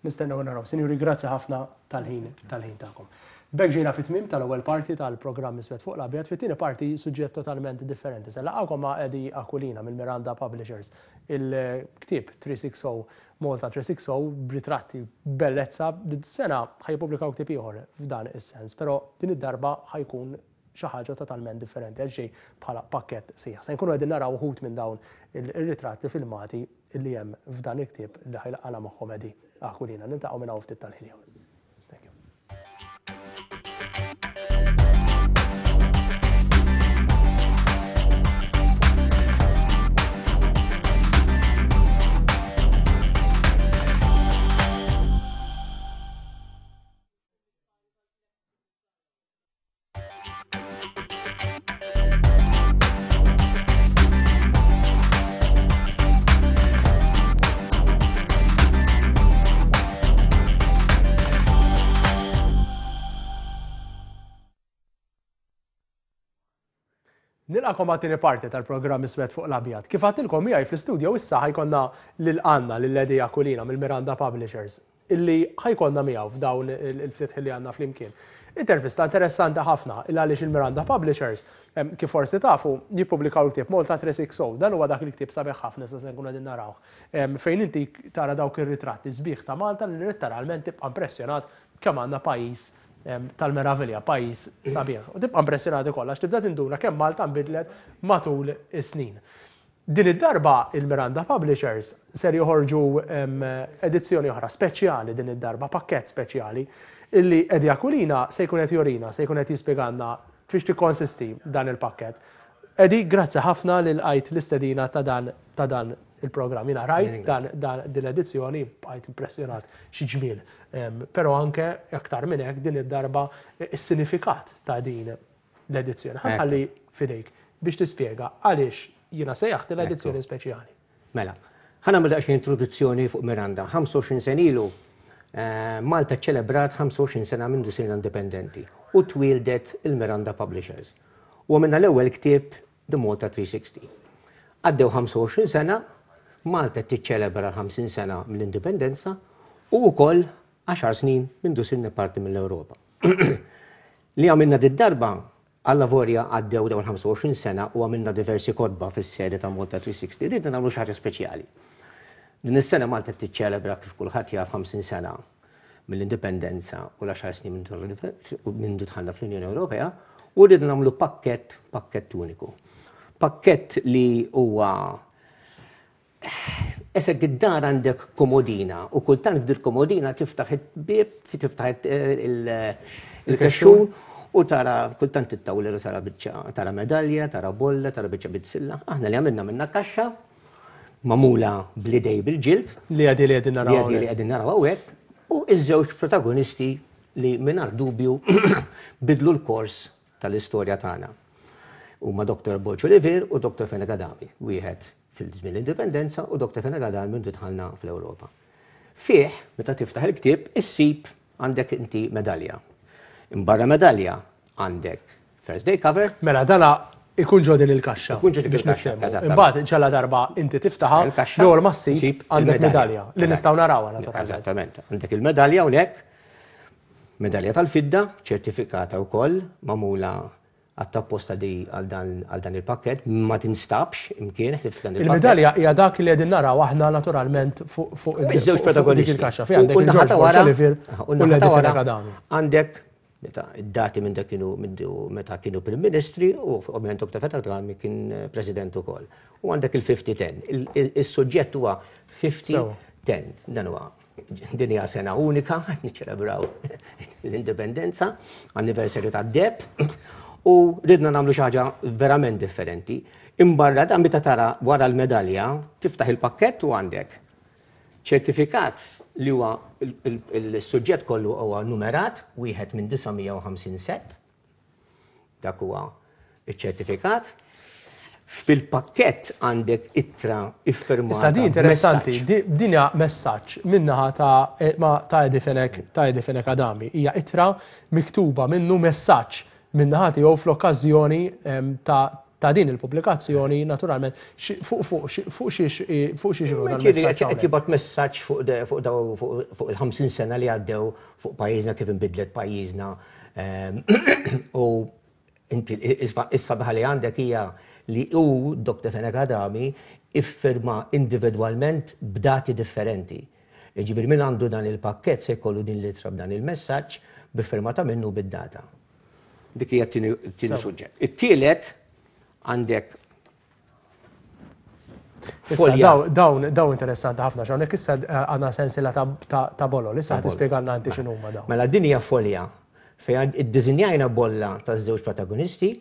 Speaker 1: Nistennew naraw. Sinjuri, grazzi ħafna tal-ħin tal-ħin tagħkom. B'hekk ġejna fit-tmiem tal-ewwel parti tal-programm Iswed fuq l-Abjad. Fit-tieni parti, suġġett totalment differenti. Se nlaqgħukom ma' Eddie Aquilina mill-Miranda Publishers. Il-ktieb tliet mija u sittin Malta tliet mija u sittin b'ritratti bellezza. Dis-sena ħa jippubblikaw ktieb ieħor f'dan is-sens, però din id-darba ħa jkun xi ħaġa totalment differenti għal xejn bħala pakkett sħiħ. Se nkunu qegħdin naraw uħud minn dawn ir-ritratti filmati li hemm f'dan il-ktieb li ħa jlaqqagħna magħhom Eddie Aquilina. Niltaqgħu minn hawn ftit tal-ħin. Thank you. Nilqagħkom għat-tieni parti tal-programm Iswed fuq l-Abjad. Kif għedtilkom, miegħi fl-istudio issa ħa jkollna lil Anna, lil Eddie Aquilina mill-Miranda Publishers, illi ħa jkollna miegħu f'dawn il-ftit li għandna flimkien. Intervista interessanti ħafna, il għaliex il-Miranda Publishers, kif forsi tafu, jippubblikaw il-ktieb Malta tliet mija u sittin Dan huwa dak il-ktieb sabiħ ħafna sa se nkunu qegħdin narawh. Fejn inti tara dawk ir-ritratti sbieħ ta' Malta li letteralment tibqa' impressjonat kemm għandna pajjiż tal-meravilja, pajjiż sabiħ. U tibqa' impressjonati kollha tibda tinduna kemm Malta nbidlet matul is-snin. Din id-darba il-Miranda Publishers ser joħorġu edizzjoni oħra speċjali din id-darba, pakkett speċjali, illi Eddie Aquilina se jkun qed jurina, se jkun qed jispjegalna fiex tikkonsisti dan il-pakkett. Eddie, grazzi ħafna li lqajt l-istedina ta' dan ta' dan il-programm. Jiena rajt dan, dan din l-edizzjoni, bqajt impressjonat xi ġmiel. Però anke aktar minn hekk, din id-darba is-sinifikat ta' din l-edizzjoni. Ħa nħalli f'idejk biex tispjega għaliex jiena sejjaħt l-edizzjoni speċjali.
Speaker 4: Mela, ħa nagħmel daqsxejn introduzzjoni fuq Miranda. ħamsa u għoxrin sena ilu, eh, Malta ċelebrat ħamsa u għoxrin sena minn sirna indipendenti u twieldet il-Miranda Publishers. U għamilna l-ewwel ktieb, The Malta tliet mija u sittin. Għaddew ħamsa u għoxrin sena, Malta tiċċelebra ħamsin sena mill-indipendenza u wkoll għaxar snin minn sirna parti mill-Ewropa. Li għamilna did-darba, għallavolja għaddew dawn ħamsa u għoxrin sena u għamilna diversi kotba fis-sede ta' Malta tliet mija u sittin, ridna nagħmlu xi ħaġa speċjali. Din is-sena Malta tiċċelebra, kif kulħadd jaf, ħamsin sena mill-indipendenza u l-għaxar snin minn dħalna fl-Unjoni Ewropea u rridna nagħmlu pakkett, pakkett uniku. Pakkett li huwa qisek id-dar għandek komodina u kultant f'dil komodina tiftaħ il-bib, tiftaħ il-kexxun u tara kultant it-tawla, tara biċċa, tara medalja, tara bolla, tara biċċa bizzilla. Aħna li għamilna minna kaxxa magħmula bl-idejn bil-ġild.
Speaker 1: Li għadi li qegħdin naraw.
Speaker 4: Li għadi li qegħdin naraw hawnhekk u iż-żewġ protagonisti li mingħajr dubju bidlu l-kors tal-istorja tagħna. Huma Doktor Borg Olivier u Doktor Fenech Adami, wieħed fil-żmien l-indipendenza u Doktor Fenech Adami minn dħalna fl-Ewropa. Fih, meta tiftaħ il-ktieb, issib għandek inti medalja. Imbarra medalja għandek first day cover.
Speaker 1: Mela, dana ikun ġo din il-kaxxa.
Speaker 4: Ikun ġo din il-kaxxa.
Speaker 1: Imbagħad ġala darba inti tiftaħa, l-ewwel ma ssib għandek medalja li nistgħu narawha naturalment.
Speaker 4: Eżattament. Għandek il-medalja hawnhekk, medalja tal-fidda, ċertifikata wkoll, magħmula apposta di għal dan il-pakket, ma tinstabx imkien ħlief dan
Speaker 1: il-pakket. Il-medalja hija dak li qegħdin naraw aħna naturalment fuq
Speaker 4: iż-żewġ protagonisti.
Speaker 1: Il-kaxxa fejn għandek il-George Borg Olivier u l-Eddie Adami.
Speaker 4: Għandek meta id-dati minn dak kienu meta kienu Prim Ministri u ovvjament Doktor Fenech Adami kien President ukoll. U għandek il-ħamsin għaxra. Is-suġġett huwa ħamsin għaxra. Dan huwa din hija sena unika, niċċelebraw l-indipendenza, anniversarju tad-deheb, u ridna nagħmlu xi ħaġa verament differenti. Imbarra dan, meta tara wara l-medalja, tiftaħ il-pakkett u għandek ċertifikat li huwa il-suġġett kollu huwa numerat, wieħed minn disa' mija u ħamsin set. Dak huwa iċ-ċertifikat. Fil-pakkett għandek ittra iffirmata.
Speaker 1: Issa di interessanti, din hija messaġġ minnaħa ta' ta' Eddie Fenech ta' Eddie Fenech Adami. Hija ittra miktuba minnu, messaġġ minnaħa tiegħu fl-okkażjoni ta' ta' din il-pubblikazzjoni naturalment. Fuq fuq fuq xiex fuq xiex
Speaker 4: Qed jibgħat messaġġ fuq fuq il-ħamsin sena li għaddew, fuq pajjiżna, kif inbidlet pajjiżna, u inti issa li għandek hija li hu Doktor Fenech Adami iffirma individwalment b'dati differenti. Ġifieri min għandu dan il-pakket se jkollu din l-ittra b'dan il-messaġġ b'iffirmata minnu bid-data. Dik hija t-tieni suġġett. It-tielet għandek
Speaker 1: Dawn dawn interessanti ħafna, hawnhekk issa għandna sensila ta' bolol, issa ħa tispjegalna inti x'inhuma dawn.
Speaker 4: Mela, din hija folja fejn iddiżinjajna bolla ta' żewġ protagonisti,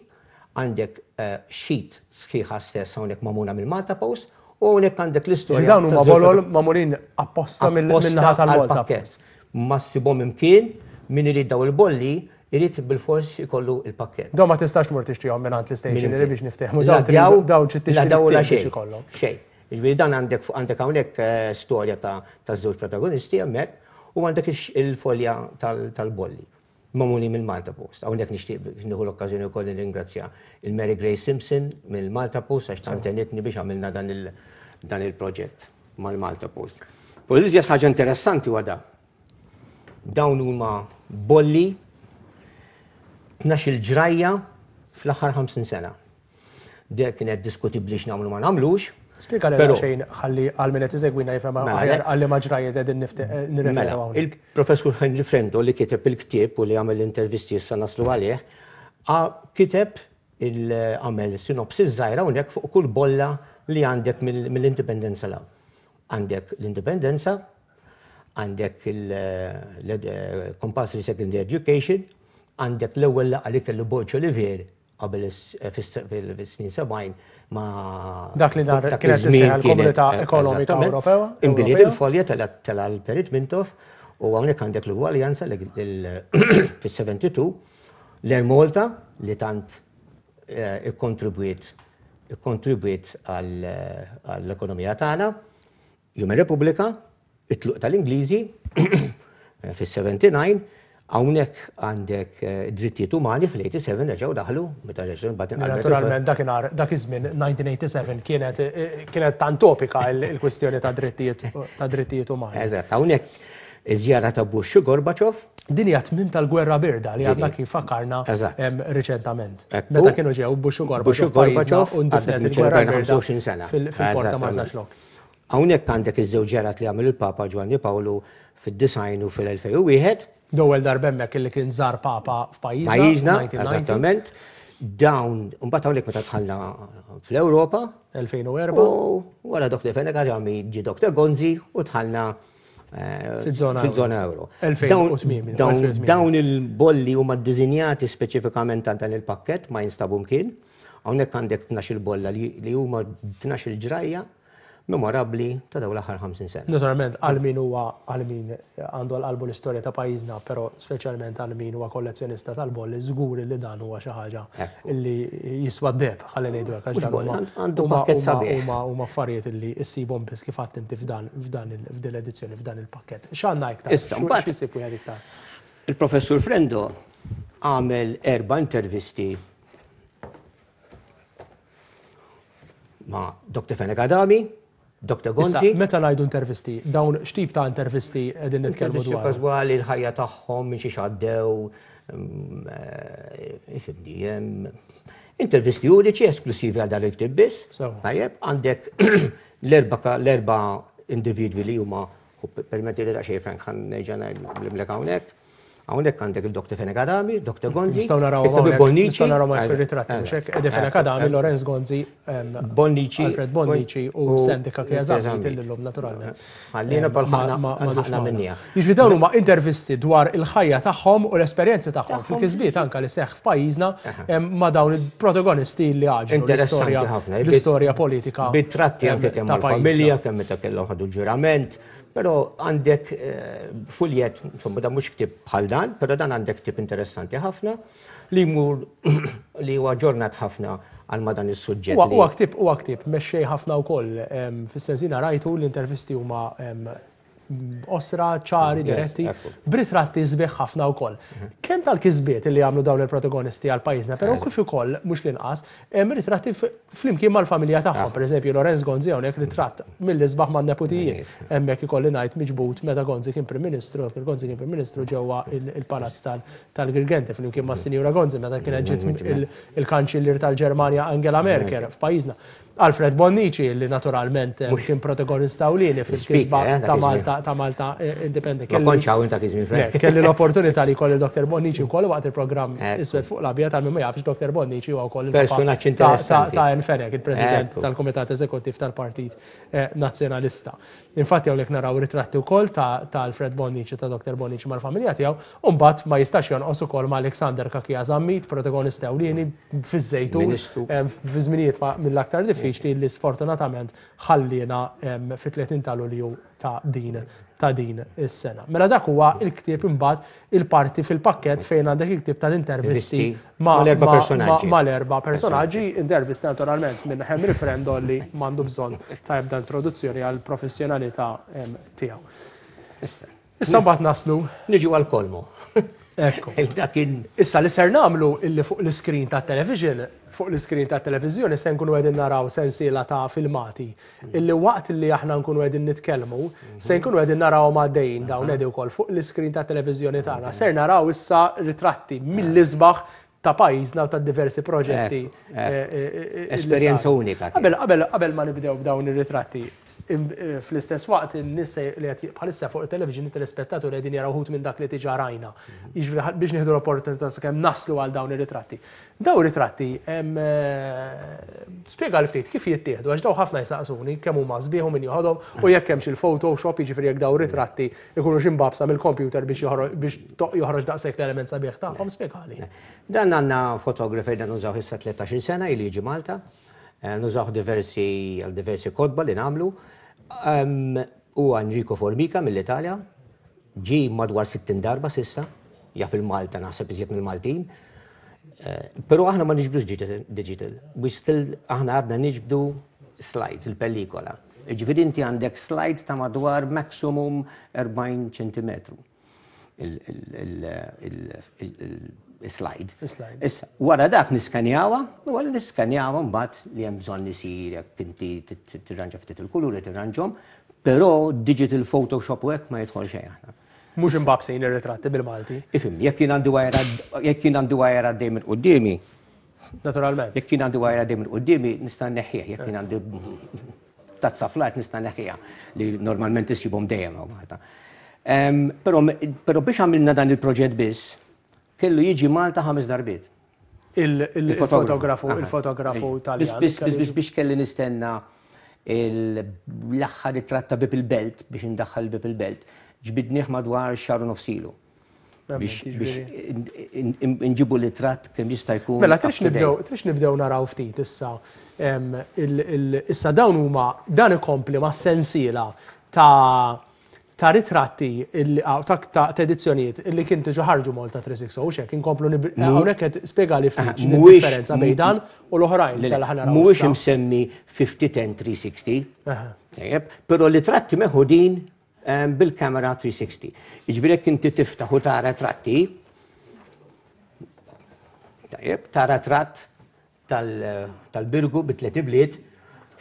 Speaker 4: għandek sheet sħiħa stess hawnhekk magħmula mill-Malta Post u hawnhekk għandek l-istorja.
Speaker 1: Dawn huma bolol magħmulin apposta mill-naħa tal-Malta
Speaker 4: Post. Ma ssibhom imkien, min irid daw il-bolli irid bil-fors ikollu il-pakket.
Speaker 1: Dawn ma tistax tmur tixtrihom minn l-istationery, biex niftehmu. Dawn dawn tixtri
Speaker 4: biex ikollhom. Xejn. Ġifieri dan għandek għandek hawnhekk storja ta' żewġ protagonisti hemmhekk u għandek il-folja tal-bolli. Magħmuli mill-Malta Post. Hawnhekk nixtieq nieħu l-okkażjoni wkoll nirringrazzja il-Mary Grace Simpson mill-Malta Post għax tant għenitni biex għamilna dan il-proġett mal-Malta Post. Però l-iżjed ħaġa interessanti huwa da. Dawn huma bolli tnax-il ġrajja fl-aħħar ħamsin sena. Dek kienet diskutibbli x'nagħmlu ma nagħmlux.
Speaker 1: Spjega lilna xejn ħalli għal min qed isegwina jifhem aħjar għal liema ġrajjiet qegħdin nirreferu hawnhekk.
Speaker 4: Il-Professur Henry Frendo li kiteb il-ktieb u li għamel l-intervisti issa naslu għalih, kiteb għamel sinopsis żgħira hawnhekk fuq kull bolla li għandek mill-indipendenza l. Għandek l-indipendenza, għandek il-compulsory secondary education, għandek l-ewwel laqgħa li kellu Borg Olivier qabel fis-snin sebgħin ma
Speaker 1: dak li nar kienet issejjaħ l-Komunità Ekonomika Ewropea.
Speaker 4: Inbidliet il-folja tela l-Perit Mintoff u hawnhekk għandek l-ugwaljanza fis-seventy-two, l-Air Malta li tant ikkontribwiet ikkontribwiet għall-ekonomija tagħna, Jum ir-Repubblika, it-tluq tal-Ingliżi fis-seventy-nine, hawnhekk għandek drittijiet umani fl-eighty-seven reġgħu daħlu meta reġgħu mbagħad inqalbet.
Speaker 1: Naturalment dakinhar dak iż-żmien nineteen eighty-seven kienet kienet tant topika il-kwistjoni ta' drittijiet ta' drittijiet umani.
Speaker 4: Eżatt, hawnhekk iż-żjara ta' Bush u Gorbachev.
Speaker 1: Din hija tmiem tal-gwerra birda li għadna kif fakkarna riċentament. Meta kienu ġew Bush u Gorbachev
Speaker 4: Gorbachev
Speaker 1: u ndifnet il-gwerra birda fil-Port ta' Marsaxlokk.
Speaker 4: Hawnhekk għandek iż-żewġ ġerat li għamel il-Papa Ġwanni Pawlu fid-disgħin u fil-elfejn u wieħed.
Speaker 1: L-ewwel darba hemmhekk li kien żar Papa f'pajjiżna.
Speaker 4: Pajjiżna, eżattament. Dawn, mbagħad hawnhekk meta dħalna fl-Ewropa.
Speaker 1: elfejn u erba'.
Speaker 4: U wara Doktor Fenech Adami ġie Doktor Gonzi u dħalna
Speaker 1: fiż-żona
Speaker 4: fiż-żona euro.
Speaker 1: elfejn u tmiem,
Speaker 4: Dawn,
Speaker 1: elfejn u tmiem.
Speaker 4: Dawn il-bolli huma ddisinjati speċifikament għal dan il-pakkett ma jinstabu mkien. Hawnhekk għandek tnax-il bolla li huma tnax-il ġrajja memorabbli ta' dawn l-aħħar ħamsin sena.
Speaker 1: Naturalment, għal min huwa għal min għandu għal qalbu l-istorja ta' pajjiżna, però speċjalment għal min huwa kollezzjonista tal-bolli, żgur li dan huwa xi ħaġa li jiswa d-deheb, ħalli ngħidu hekk, għax
Speaker 4: Mhux
Speaker 1: dan
Speaker 4: bolli,
Speaker 1: huma
Speaker 4: għandu
Speaker 1: huma
Speaker 4: pakkett
Speaker 1: huma
Speaker 4: sabiħ.
Speaker 1: huma huma affarijiet li ssibhom biss kif għadt inti f'dan, f'dan il-, f'din l-edizzjoni, f'dan il-pakkett. X'għandna iktar?
Speaker 4: Issa,
Speaker 1: X'u-
Speaker 4: mbagħad
Speaker 1: X'isib wieħed iktar?
Speaker 4: Il-Professur Frendo għamel erba' intervisti ma' Doktor Fenech Adami, Doktor
Speaker 1: Issa,
Speaker 4: Gonzi.
Speaker 1: meta ngħidu intervisti, dawn x'tip ta' intervisti qegħdin nitkellmu
Speaker 4: Intervisti
Speaker 1: dwar?
Speaker 4: Każwali, l-ħajja tagħhom, minn xi x'għaddew, mm, eh, ifhimni, hemm intervisti uniċi esklusivi għal dan il-ktieb biss.
Speaker 1: Sewa.
Speaker 4: Tajjeb, għandek l-erba ka-, l-erba individwi li huma, permetti li daqsxejn Frank, ħan nerġa' ngħidlek hawnhekk. Hawnhekk għandek il-Doktor Fenech Adami, Doktor Gonzi,
Speaker 1: Nistgħu naraw
Speaker 4: il-Doktor
Speaker 1: hawnhekk,
Speaker 4: Bonnici.
Speaker 1: nistgħu naraw hawnhekk
Speaker 4: Eżatt,
Speaker 1: fir-ritratti, mhux hekk? Edi Fenech
Speaker 4: eżatt,
Speaker 1: Adami,
Speaker 4: eżatt.
Speaker 1: Lorenz Gonzi, ehm,
Speaker 4: Bonnici,
Speaker 1: Alfred Bonnici u
Speaker 4: u
Speaker 1: Sandy Cachia Zammit,
Speaker 4: Zammit.
Speaker 1: illum naturalment.
Speaker 4: Ħallina
Speaker 1: Ehm,
Speaker 4: bħal
Speaker 1: ma-
Speaker 4: ħana-
Speaker 1: ma- ma
Speaker 4: ħana
Speaker 1: dux
Speaker 4: minnija.
Speaker 1: magħna. Jiġifieri dawn huma intervisti dwar il-ħajja tagħhom u l-esperjenzi tagħhom
Speaker 4: Tagħhom.
Speaker 1: fil-kisbiet anke li seħħ f'pajjiżna,
Speaker 4: Aha.
Speaker 1: ehm, ma' dawn il-protagonisti li għaġlu
Speaker 4: Interessanti
Speaker 1: l-istorja
Speaker 4: ħafna.
Speaker 1: l-istorja politika
Speaker 4: Bit-tratti
Speaker 1: ehm,
Speaker 4: anke kemm
Speaker 1: ta' pajjiżna.
Speaker 4: mal-familja, kemm meta kellhom ħadu l-ġurament, però għandek, eh, fuljet, insomma, dan mhux ktieb bħal dan, però dan għandek ktieb interessanti ħafna li jmur li huwa ġurnat ħafna għal ma dan is-suġġett.
Speaker 1: Huwa
Speaker 4: li
Speaker 1: huwa ktieb, huwa ktieb mexxej ħafna wkoll, ehm, fis-sens jiena rajtu l-intervisti huma, ehm, osra, ċari,
Speaker 4: Yes,
Speaker 1: diretti,
Speaker 4: ekku.
Speaker 1: b'ritratti sbieħ ħafna wkoll. Kemm tal-kisbiet li għamlu dawn il-protagonisti għal pajjiżna, però
Speaker 4: Eżatt.
Speaker 1: kif ukoll mhux l-inqas, hemm ritratti f-, flimkien mal-familja tagħhom,
Speaker 4: Ah.
Speaker 1: pereżempju Lorenz Gonzi hawnhekk ritratt mill-isbaħ man-neputijiet.
Speaker 4: Yes.
Speaker 1: Hemmhekk ikolli ngħid miġbud meta Gonzi kien Prim Ministru, Dottor Gonzi kien Prim Ministru ġewwa il-, il-Palazz tal-, tal-Girgenti flimkien mas-Sinjura Gonzi meta kienet ġiet
Speaker 4: Mm,
Speaker 1: il-, il-Kanċillier tal-Ġermanja Angela Merkel f'pajjiżna. Alfred Bonnici, li naturalment
Speaker 4: Mhux
Speaker 1: kien protagonista ewlieni fil-kisba
Speaker 4: Speaker, eh, dak
Speaker 1: ta'
Speaker 4: iż-żmien.
Speaker 1: Malta, ta' Malta, eh, Independent.
Speaker 4: Ma
Speaker 1: Kelli
Speaker 4: kontx hawn dak iż-żmien, Frank.
Speaker 1: Le, kelli l-opportunità li jkolli Doktor Bonnici wkoll waqt il-programm
Speaker 4: Ekku.
Speaker 1: Iswed fuq l-Abjad, għal min ma jafx Doktor Bonnici huwa wkoll il-papa
Speaker 4: Personaġġ
Speaker 1: ta'
Speaker 4: interessanti.
Speaker 1: ta' Ian Fenech, il-President
Speaker 4: Ekku.
Speaker 1: tal-Kumitat Eżekuttiv tal-Partit, eh, Nazzjonalista. Infatti hawnhekk naraw ritratti wkoll ta', ta' Alfred Bonnici, ta' Doktor Bonnici mal-familja tiegħu, u mbagħad ma jistax jonqos ukoll ma' Alexander Cachia Zammit, protagonista ewlieni fiż-Żejtun,
Speaker 4: Ministru.
Speaker 1: em, fi żminijiet ma' mill-aktar diffiċli li sfortunatament ħallina, em, fit-tletin ta' Lulju ta' din, ta' din is-sena. Mela dak huwa il-ktieb imbagħad il-parti fil-pakkett fejn għandek il-ktieb tal-intervisti
Speaker 4: Intervisti
Speaker 1: ma'
Speaker 4: mal-erba'
Speaker 1: ma'
Speaker 4: personaġġi.
Speaker 1: ma' mal-erba' personaġġi, intervisti naturalment minn Henry Frendo li m'għandu bżonn ta' ebda introduzzjoni għal professjonalità, em, tiegħu.
Speaker 4: Issa.
Speaker 1: Issa mbagħad naslu.
Speaker 4: Niġu għal kolmo.
Speaker 1: Ekku.
Speaker 4: Dak kien
Speaker 1: Issa li ser nagħmlu illi fuq l-iskrin ta' television, fuq l-iskrin ta' televiżjoni se nkunu qegħdin naraw sensiela ta' filmati illi waqt li aħna nkunu qegħdin nitkellmu, se nkunu qegħdin naraw għaddejjin dawn qegħdin ukoll fuq l-iskrin ta' televiżjoni tagħna. Ser naraw issa ritratti mill-isbaħ ta' pajjiżna u ta' diversi proġetti.
Speaker 4: Ekku,
Speaker 1: eh, eh, eh, li
Speaker 4: Esperjenza
Speaker 1: saru.
Speaker 4: unika kienet.
Speaker 1: Qabel qabel qabel ma nibdew b'dawn ir-ritratti, im- eh, fl-istess waqt in-nies li qed bħalissa fuq il-television it-telespettaturi qegħdin jaraw uħud minn dak li diġà rajna. Jiġifieri biex nieħdu l-opportunità sakemm naslu għal dawn ir-ritratti. Dawn ir-ritratti em, eh, spjega li ftit kif jittieħdu għax daw ħafna jistaqsuni kemm huma sbieħ u min joħodhom u jekk hemmx il-Photoshop, jiġifieri jekk dawn ritratti ikunu imbagħbsa mill-computer biex joħroġ biex to- joħroġ daqshekk l-element sabiħ tagħhom, spjegali.
Speaker 4: Dan għandna fotografer dan nużaw issa tlettax-il sena ili jiġi Malta. Eh, Nużaw diversi għal diversi kotba li nagħmlu. Um, U Enrico Formica mill-Italja, ġi madwar sittin darba s'issa, jaf il-Malta naħseb iżjed mill-Maltin. Eh, Però aħna ma niġbdux digital, digital. We still aħna għadna niġbdu slides, il-pellikola. Ġifieri inti għandek slides ta' madwar maximum erbgħin ċentimetru il-slide.
Speaker 1: Il-slide.
Speaker 4: Issa, wara dak niskanjawha, u wara niskanjawha mbagħad li hemm bżonn isir jekk inti tirranġa ftit il-kuluri tirranġhom, però digital Photoshop u hekk ma jidħol xejn aħna.
Speaker 1: Mhux imbagħbsin ir-ritratti bil-Malti.
Speaker 4: Ifhem, jekk jien għandi wire jekk jien għandi wire għaddej minn quddiemi,
Speaker 1: Naturalment.
Speaker 4: jekk jien għandi wire għaddej minn quddiemi nista' nneħħih, jekk jien għandi tazza fl-art nista' nneħħiha li normalment issibhom dejjem hawn Malta. Em, Però però biex għamilna dan il-proġett biss, kellu jiġi Malta ħames darbiet.
Speaker 1: Il-fotografu, il-fotografu Taljan.
Speaker 4: Biss biss biss biex kelli nistenna l-aħħar ritratt ta' Bieb il-Belt biex indaħħal Bieb il-Belt. Ġbidnieh madwar xahar u nofs ilu. Biex biex in- in- nġibu l-ritratt kemm jista' jkun
Speaker 1: Mela, trix
Speaker 4: up to date.
Speaker 1: nibdew, trix nibdew naraw ftit issa. em, il- il- Issa dawn huma dan ikompli ma' sensiela ta' ta' ritratti illi- aw, ta' ta' ta' edizzjonijiet illi kien diġà ħarġu Malta tliet mija u sittin u xek inkomplu hawnhekk qed spjegali ftit x'inhi
Speaker 4: Mhuwiex-
Speaker 1: differenza bejn dan u l-oħrajn tal ħa naraw
Speaker 4: Mhuwiex
Speaker 1: issa.
Speaker 4: imsemmi fifty ten tliet mija u sittin.
Speaker 1: Aha.
Speaker 4: Tajjeb, però l-ritratti meħudin em, bil-kamera tliet mija u sittin. Jiġifieri jekk inti tiftaħ u tara tratti, tajjeb, tara tratt tal- tal-Birgu bit-tliet ibliet,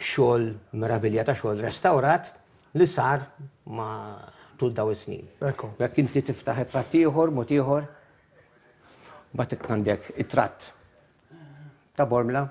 Speaker 4: xogħol meravilja ta' xogħol restawrat li sar ma tul daw is-snin.
Speaker 1: Ekku.
Speaker 4: Jekk inti tiftaħ it-tratt ieħor, mod ieħor, mbagħad għandek it-tratt ta' Bormla.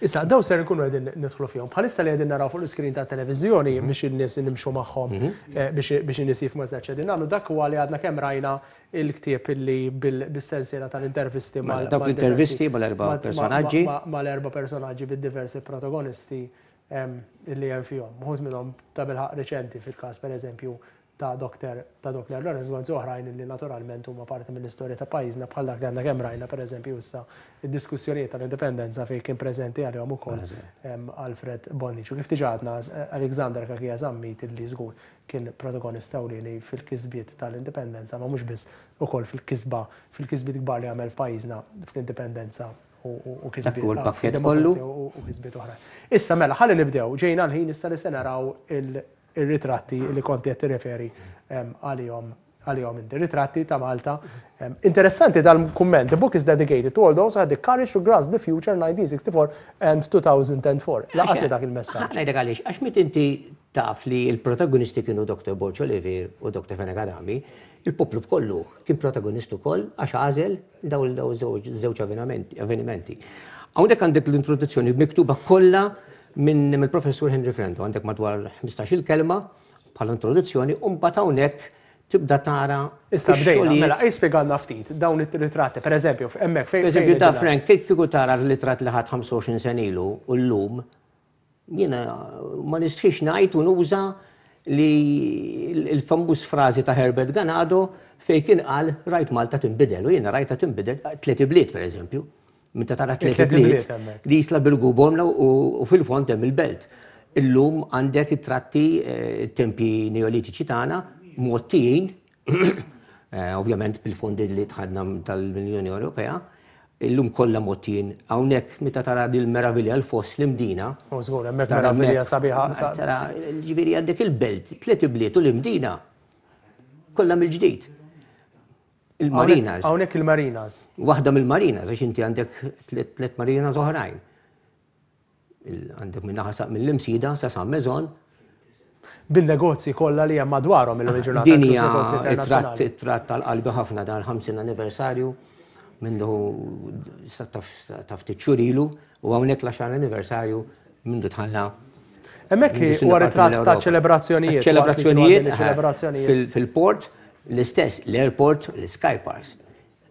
Speaker 1: Issa, daw ser nkunu qegħdin nidħlu fihom. Bħalissa li qegħdin naraw fuq l-iskrin ta' televiżjoni biex in-nies nimxu magħhom eh, biex biex in-nies jifhmu eżatt x'qegħdin nagħmlu. Dak huwa li għadna kemm rajna il-ktieb illi bil- bis-sensiela tal-intervisti mal
Speaker 4: Mela, dawk
Speaker 1: mal-
Speaker 4: l-intervisti
Speaker 1: diversi-
Speaker 4: mal-erba'
Speaker 1: ma- ma-
Speaker 4: personaġġi.
Speaker 1: ma- Mal-erba' personaġġi bid-diversi protagonisti em, illi hemm fihom. Uħud minnhom ta' bilħaq reċenti fil-każ, pereżempju, ta' Doktor ta' Doktor Lawrence Gonzi, oħrajn illi naturalment huma parti mill-istorja ta' pajjiżna bħal dak li għandna kemm rajna, pereżempju, issa id-diskussjonijiet tal-indipendenza fejn kien preżenti għalihom ukoll em, Alfred Bonnici. U kif diġà għadna, Alexander Cachia Zammit illi żgur kien protagonista ewlieni fil-kisbiet tal-indipendenza, ma mhux biss, ukoll fil-kisba fil-kisbiet kbar li għamel f'pajjiżna fl-indipendenza u- u u kisbiet
Speaker 4: Dak hu l-pakkett
Speaker 1: ah,
Speaker 4: kollu.
Speaker 1: fid-demokrazija u u kisbiet oħra. Issa mela, ħalli nibdew, ġejna l-ħin issa li se naraw il- ir-ritratti li konti qed tirreferi em, għalihom għalihom inti. Ritratti ta' Malta. Em, Interessanti dal-kumment: "The book is dedicated to all those who had the courage to grasp the future nineteen sixty-four and two thousand four" Laqatni dak il-messaġġ.
Speaker 4: Ngħidlek għaliex, għax meta inti taf li il-protagonisti kienu Doktor Borg Olivier u Doktor Fenech Adami, il-poplu kollu kien protagonist ukoll għax għażel daw daw żewġ żewġ avvenimenti. avvenimenti. Hawnhekk għandek l-introduzzjoni miktuba kollha minn mill-professur Henry Frendo, għandek madwar ħmistax-il kelma bħala introduzzjoni, u mbagħad hawnhekk tibda tara
Speaker 1: Issa bdejna,
Speaker 4: ix-xogħlijiet.
Speaker 1: Mela, jispjegalna ftit dawn it-ritratti, per eżempju, hemmhekk fejn.
Speaker 4: Per eżempju,
Speaker 1: fejn
Speaker 4: da
Speaker 1: qegħdin
Speaker 4: Frank, kieku tara l-ritratt li ħadd ħamsa u għoxrin sena ilu u llum, jiena ma nistħix ngħid u nuża li il-famuż frażi ta' Herbert Ganado fejn kien qal "rajt Malta tinbidel" u jiena rajta tinbidel tliet ibliet, per eżempju. Meta tara tliet
Speaker 1: Tliet
Speaker 4: ibliet
Speaker 1: ibliet hemmhekk.
Speaker 4: Li Isla, Birgu, Bormla u u fil-fond hemm il-belt. Illum għandek it-tratti eh, tempi neolitiċi tagħna mgħottijin, eh, ovvjament bil-fondi li tħadna tal-Unjoni Ewropea, illum kollha mgħottijin. Hawnhekk meta tara dil-meravilja l-foss l-Imdina.
Speaker 1: U żgur, hemmhekk
Speaker 4: Tara
Speaker 1: meravilja
Speaker 4: hemmhekk-
Speaker 1: sabiħa. sa-
Speaker 4: Tara, ġifieri għandek il-belt, tliet ibliet u l-Imdina kollha mill-ġdid. Il-marinas.
Speaker 1: Hawnhekk il-marinas.
Speaker 4: Waħda mill-marinas, għax inti għandek tliet marinas oħrajn. Għandek minn naħa mill-Imsida sa San Mezon.
Speaker 1: Bin-negozji kollha li hemm madwarhom illum il-ġurnata.
Speaker 4: Din hija it-tratt tal-qalbi ħafna dan il-ħamsin anniversarju mindu ta' ftit xhur ilu u hawnhekk l-għaxar anniversarju mindu tħalla.
Speaker 1: Hemmhekk huwa ritratt ta' ċelebrazzjonijiet.
Speaker 4: Ċelebrazzjonijiet fil-port, l-istess, l-airport, l-Sky Parks,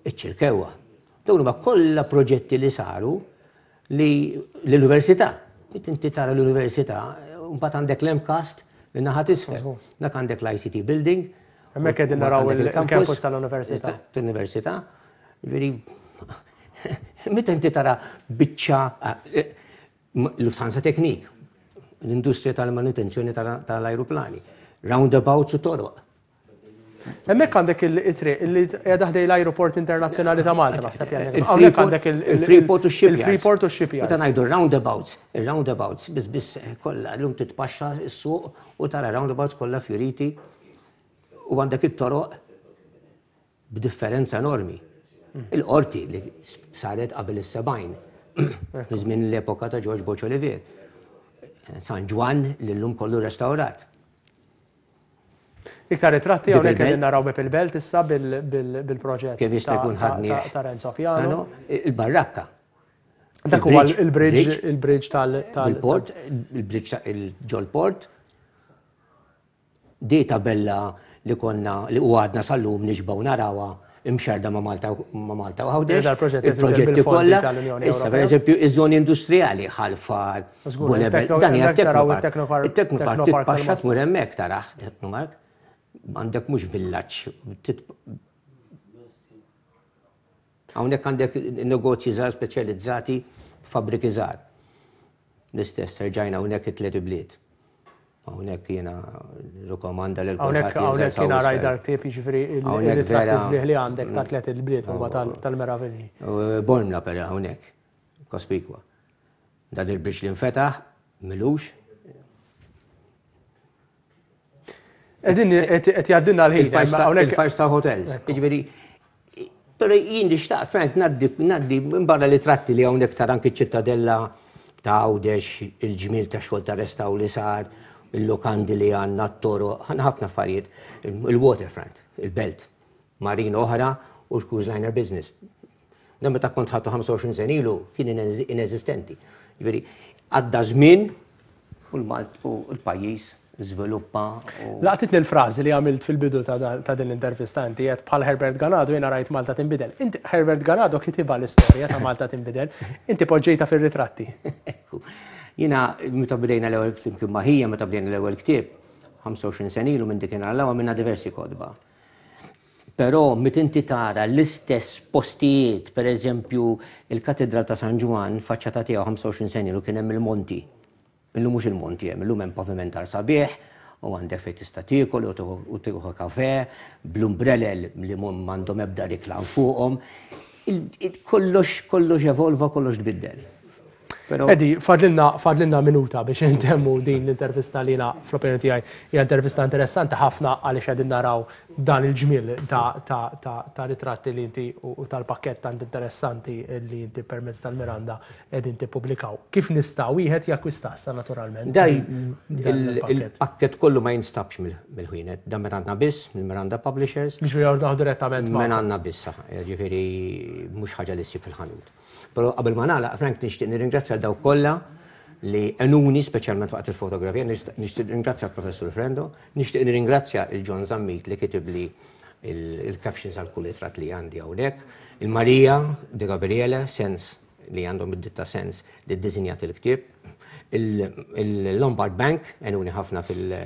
Speaker 4: iċ-Ċirkewwa. Dawn huma kollha proġetti li saru li l-università. Inti tara l-università, mbagħad għandek l-MCAST in-naħa t'isfel. Dak għandek l-I C T building.
Speaker 1: Hemmhekk qegħdin naraw il-campus tal-università.
Speaker 4: Tal-università. Ġifieri, meta inti tara biċċa Lufthansa Technik, l-industrija tal-manutenzjoni tal-ajruplani, roundabouts u toroq.
Speaker 1: Hemmhekk għandek il-triq li qiegħda ħdej l-Ajruport Internazzjonali ta' Malta, naħseb jgħidlek. Hawnhekk għandek
Speaker 4: il-Freeport u x-shipyards.
Speaker 1: Il-Freeport u x-shipyards.
Speaker 4: Meta ngħidu roundabouts, il-roundabouts biss biss kollha llum titpaxxa s-suq u tara roundabouts kollha fjuriti u għandek it-toroq b'differenza enormi. Il-qorti li saret qabel is-sebgħin, żmien l-epoka ta' George Borg Olivier. San Ġwann li llum kollu restawrat.
Speaker 1: Iktar ritratti hawnhekk qegħdin naraw Beb il-Belt issa bil-proġett
Speaker 4: Kif jista' jkun ħadnieh
Speaker 1: ta' Renzo Piano.
Speaker 4: Il-barrakka.
Speaker 1: Dak huwa il-bridge, il-bridge tal-
Speaker 4: Il-port, il-bridge ġol-port. Di tabella li konna li u għadna sal-lum nixbgħu narawha imxerda ma' Malta ma' Malta u Għawdex.
Speaker 1: Dal-proġett qed isir
Speaker 4: Il-proġetti
Speaker 1: bil-fondi
Speaker 4: kollha.
Speaker 1: tal-Unjoni
Speaker 4: Issa, per
Speaker 1: Ewropea.
Speaker 4: eżempju, iż-żoni industrijali, Ħalfar,
Speaker 1: Żgur,
Speaker 4: Bulebel,
Speaker 1: il-Tekno-
Speaker 4: dan hija
Speaker 1: hemmhekk naraw
Speaker 4: Teknopark.
Speaker 1: il-Teknopark,
Speaker 4: Il-Teknopark
Speaker 1: Teknopark
Speaker 4: titpaxxa
Speaker 1: tal-Mosta.
Speaker 4: tmur hemmhekk taraħ, Teknopark. Għandek mhux villaġġ. Hawnhekk għandek negozji żgħar speċjalizzati, fabbriki żgħar. L-istess terġajna hawnhekk it-tliet ibliet. Hawnhekk jiena rikkomanda lil
Speaker 1: Hawnhekk
Speaker 4: kulħadd jinżel
Speaker 1: hawnhekk jiena
Speaker 4: South
Speaker 1: rajt
Speaker 4: West.
Speaker 1: dar ktieb, jiġifieri il-
Speaker 4: Hawnhekk
Speaker 1: il-ritratti
Speaker 4: vera.
Speaker 1: sbieħ li għandek ta' tliet il-bliet huma tal-, tal-meravilji.
Speaker 4: U Bormla però hawnhekk, Kospikwa. Dan il-bridge li nfetaħ, milux.
Speaker 1: Qegħdin qed jgħaddilna l-ħin,
Speaker 4: Il-five
Speaker 1: imma
Speaker 4: star,
Speaker 1: hawnhekk
Speaker 4: il-five star hotels. Jiġifieri, però jien li xtaqt, Frank, ngħaddi, ngħaddi minn barra li tratti li hawnhekk tara anki ċ-ċittadella ta' Għawdex, il-ġmiel ta' xogħol ta' restaw li sar, il-lokandi li għandna, t-toroq, għandna ħafna affarijiet, il-waterfront, il-belt, marina oħra u l-cruise liner business. Dan meta kont ħadtu ħamsa u għoxrin sena ilu kien ineżistenti. ineżistenti. Jiġifieri, għadda żmien u l-Malt u l-pajjiż żviluppa u
Speaker 1: Laqtitni l-frażi li għamilt fil-bidu ta' dan, ta' din l-intervista inti qed bħal Herbert Ganado jiena rajt Malta tinbidel. Inti Herbert Ganado kitibha l-istorja ta' Malta tinbidel, inti poġġejta fir-ritratti.
Speaker 4: Ekku. Jiena meta bdejna l-ewwel flimkien ma' ħija, meta bdejna l-ewwel ktieb, ħamsa u għoxrin sena ilu minn dik inhar l-ewwel minna diversi kotba. Però meta inti tara l-istess postijiet, per eżempju il-Katedral ta' San Ġwann, faċċata tiegħu ħamsa u għoxrin sena ilu kien hemm il-monti. Illum mhux il-monti hemm, illum hemm pavimentar sabiħ, u għandek fejn tista' tiekol u tieħu, u tieħu kafe, bl-umbrellel li m'għandhom ebda riklam fuqhom. Il-, il-, kollox, kollox evolva, kollox tbiddel. Però
Speaker 1: Eddie, fadlilna, fadlilna minuta biex intemmu din l-intervista li jiena fl-opinjoni tiegħi hija intervista interessanti ħafna għaliex qegħdin naraw dan il-ġmiel ta', ta', ta', ta' ritratti li inti u, u tal-pakkett tant interessanti li inti permezz tal-Miranda qegħdin tippubblikaw. Kif nista' wieħed jakkwista issa naturalment?
Speaker 4: Daj,
Speaker 1: Dan
Speaker 4: il-,
Speaker 1: il-pakkett?
Speaker 4: il-pakkett kollu ma jinstabx mill-, mill-ħwienet, dan minn għandna biss, mill-Miranda Publishers.
Speaker 1: Biex jordnaw direttament ma'
Speaker 4: Minn għandna biss, jiġifieri mhux ħaġa li ssib fil-ħanut. Però qabel ma nagħlaq, Frank, nixtieq nirringrazzja dawk kollha li għenuni speċjalment waqt il-fotografija, nixtieq, nixtieq nirringrazzja l-Professur Frendo, nixtieq nirringrazzja il-John Zammit li kitibli il-, il-captions għal kull ritratt li għandi hawnhekk, il-Maria De Gabriele, Sens li għandhom id-ditta Sens li ddisinjat il-ktieb, il-, il-Lombard Bank għenuni ħafna fil-,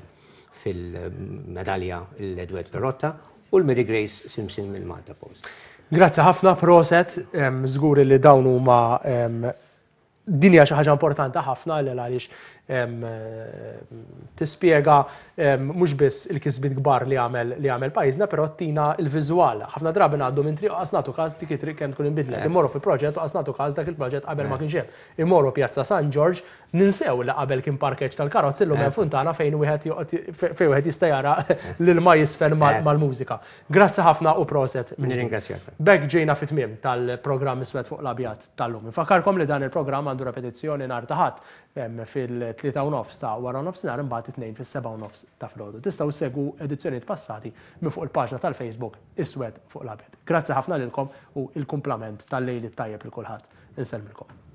Speaker 4: fil-medalja l-Edward Ferrotta u l-Mary Grace Simpson mill-Malta Post.
Speaker 1: Grazzi ħafna, proset, em, żgur li dawn huma, em, Din hija xi ħaġa importanti ħafna li għaliex tispjega mhux biss il-kisbiet kbar li għamel li għamel pajjiżna, però tina il-viżwal. Ħafna drabi ngħaddu minn triq qas nagħtu każ dik it-triq kemm tkun inbidlet. Immorru fi proġett u qas nagħtu każ dak il-proġett qabel ma kienx hemm. Immorru Pjazza San Ġorġ, ninsew li qabel kien parkeġġ tal-karozzi, illum hemm funtana fejn wieħed fejn wieħed jista' jara l-ilma jisfen mal-mużika. Grazzi ħafna u proset.
Speaker 4: Nirringrazzjak.
Speaker 1: B'hekk ġejna fit-tmiem tal-programm Iswed fuq l-Abjad tal-lum. Infakkarkom li dan il-programm għandu repetizzjoni nhar ta' Ħadd fil-tlieta u nofs ta' wara nofsinhar, imbagħad it-Tnejn fis-sebgħa u nofs ta' filgħodu. Tistgħu ssegwu edizzjonijiet passati minn fuq il-paġna tal-Facebook Iswed fuq l-Abjad. Grazzi ħafna lilkom u il-kumplament tal-lejl tajjeb lil kulħadd. Insellmilkom.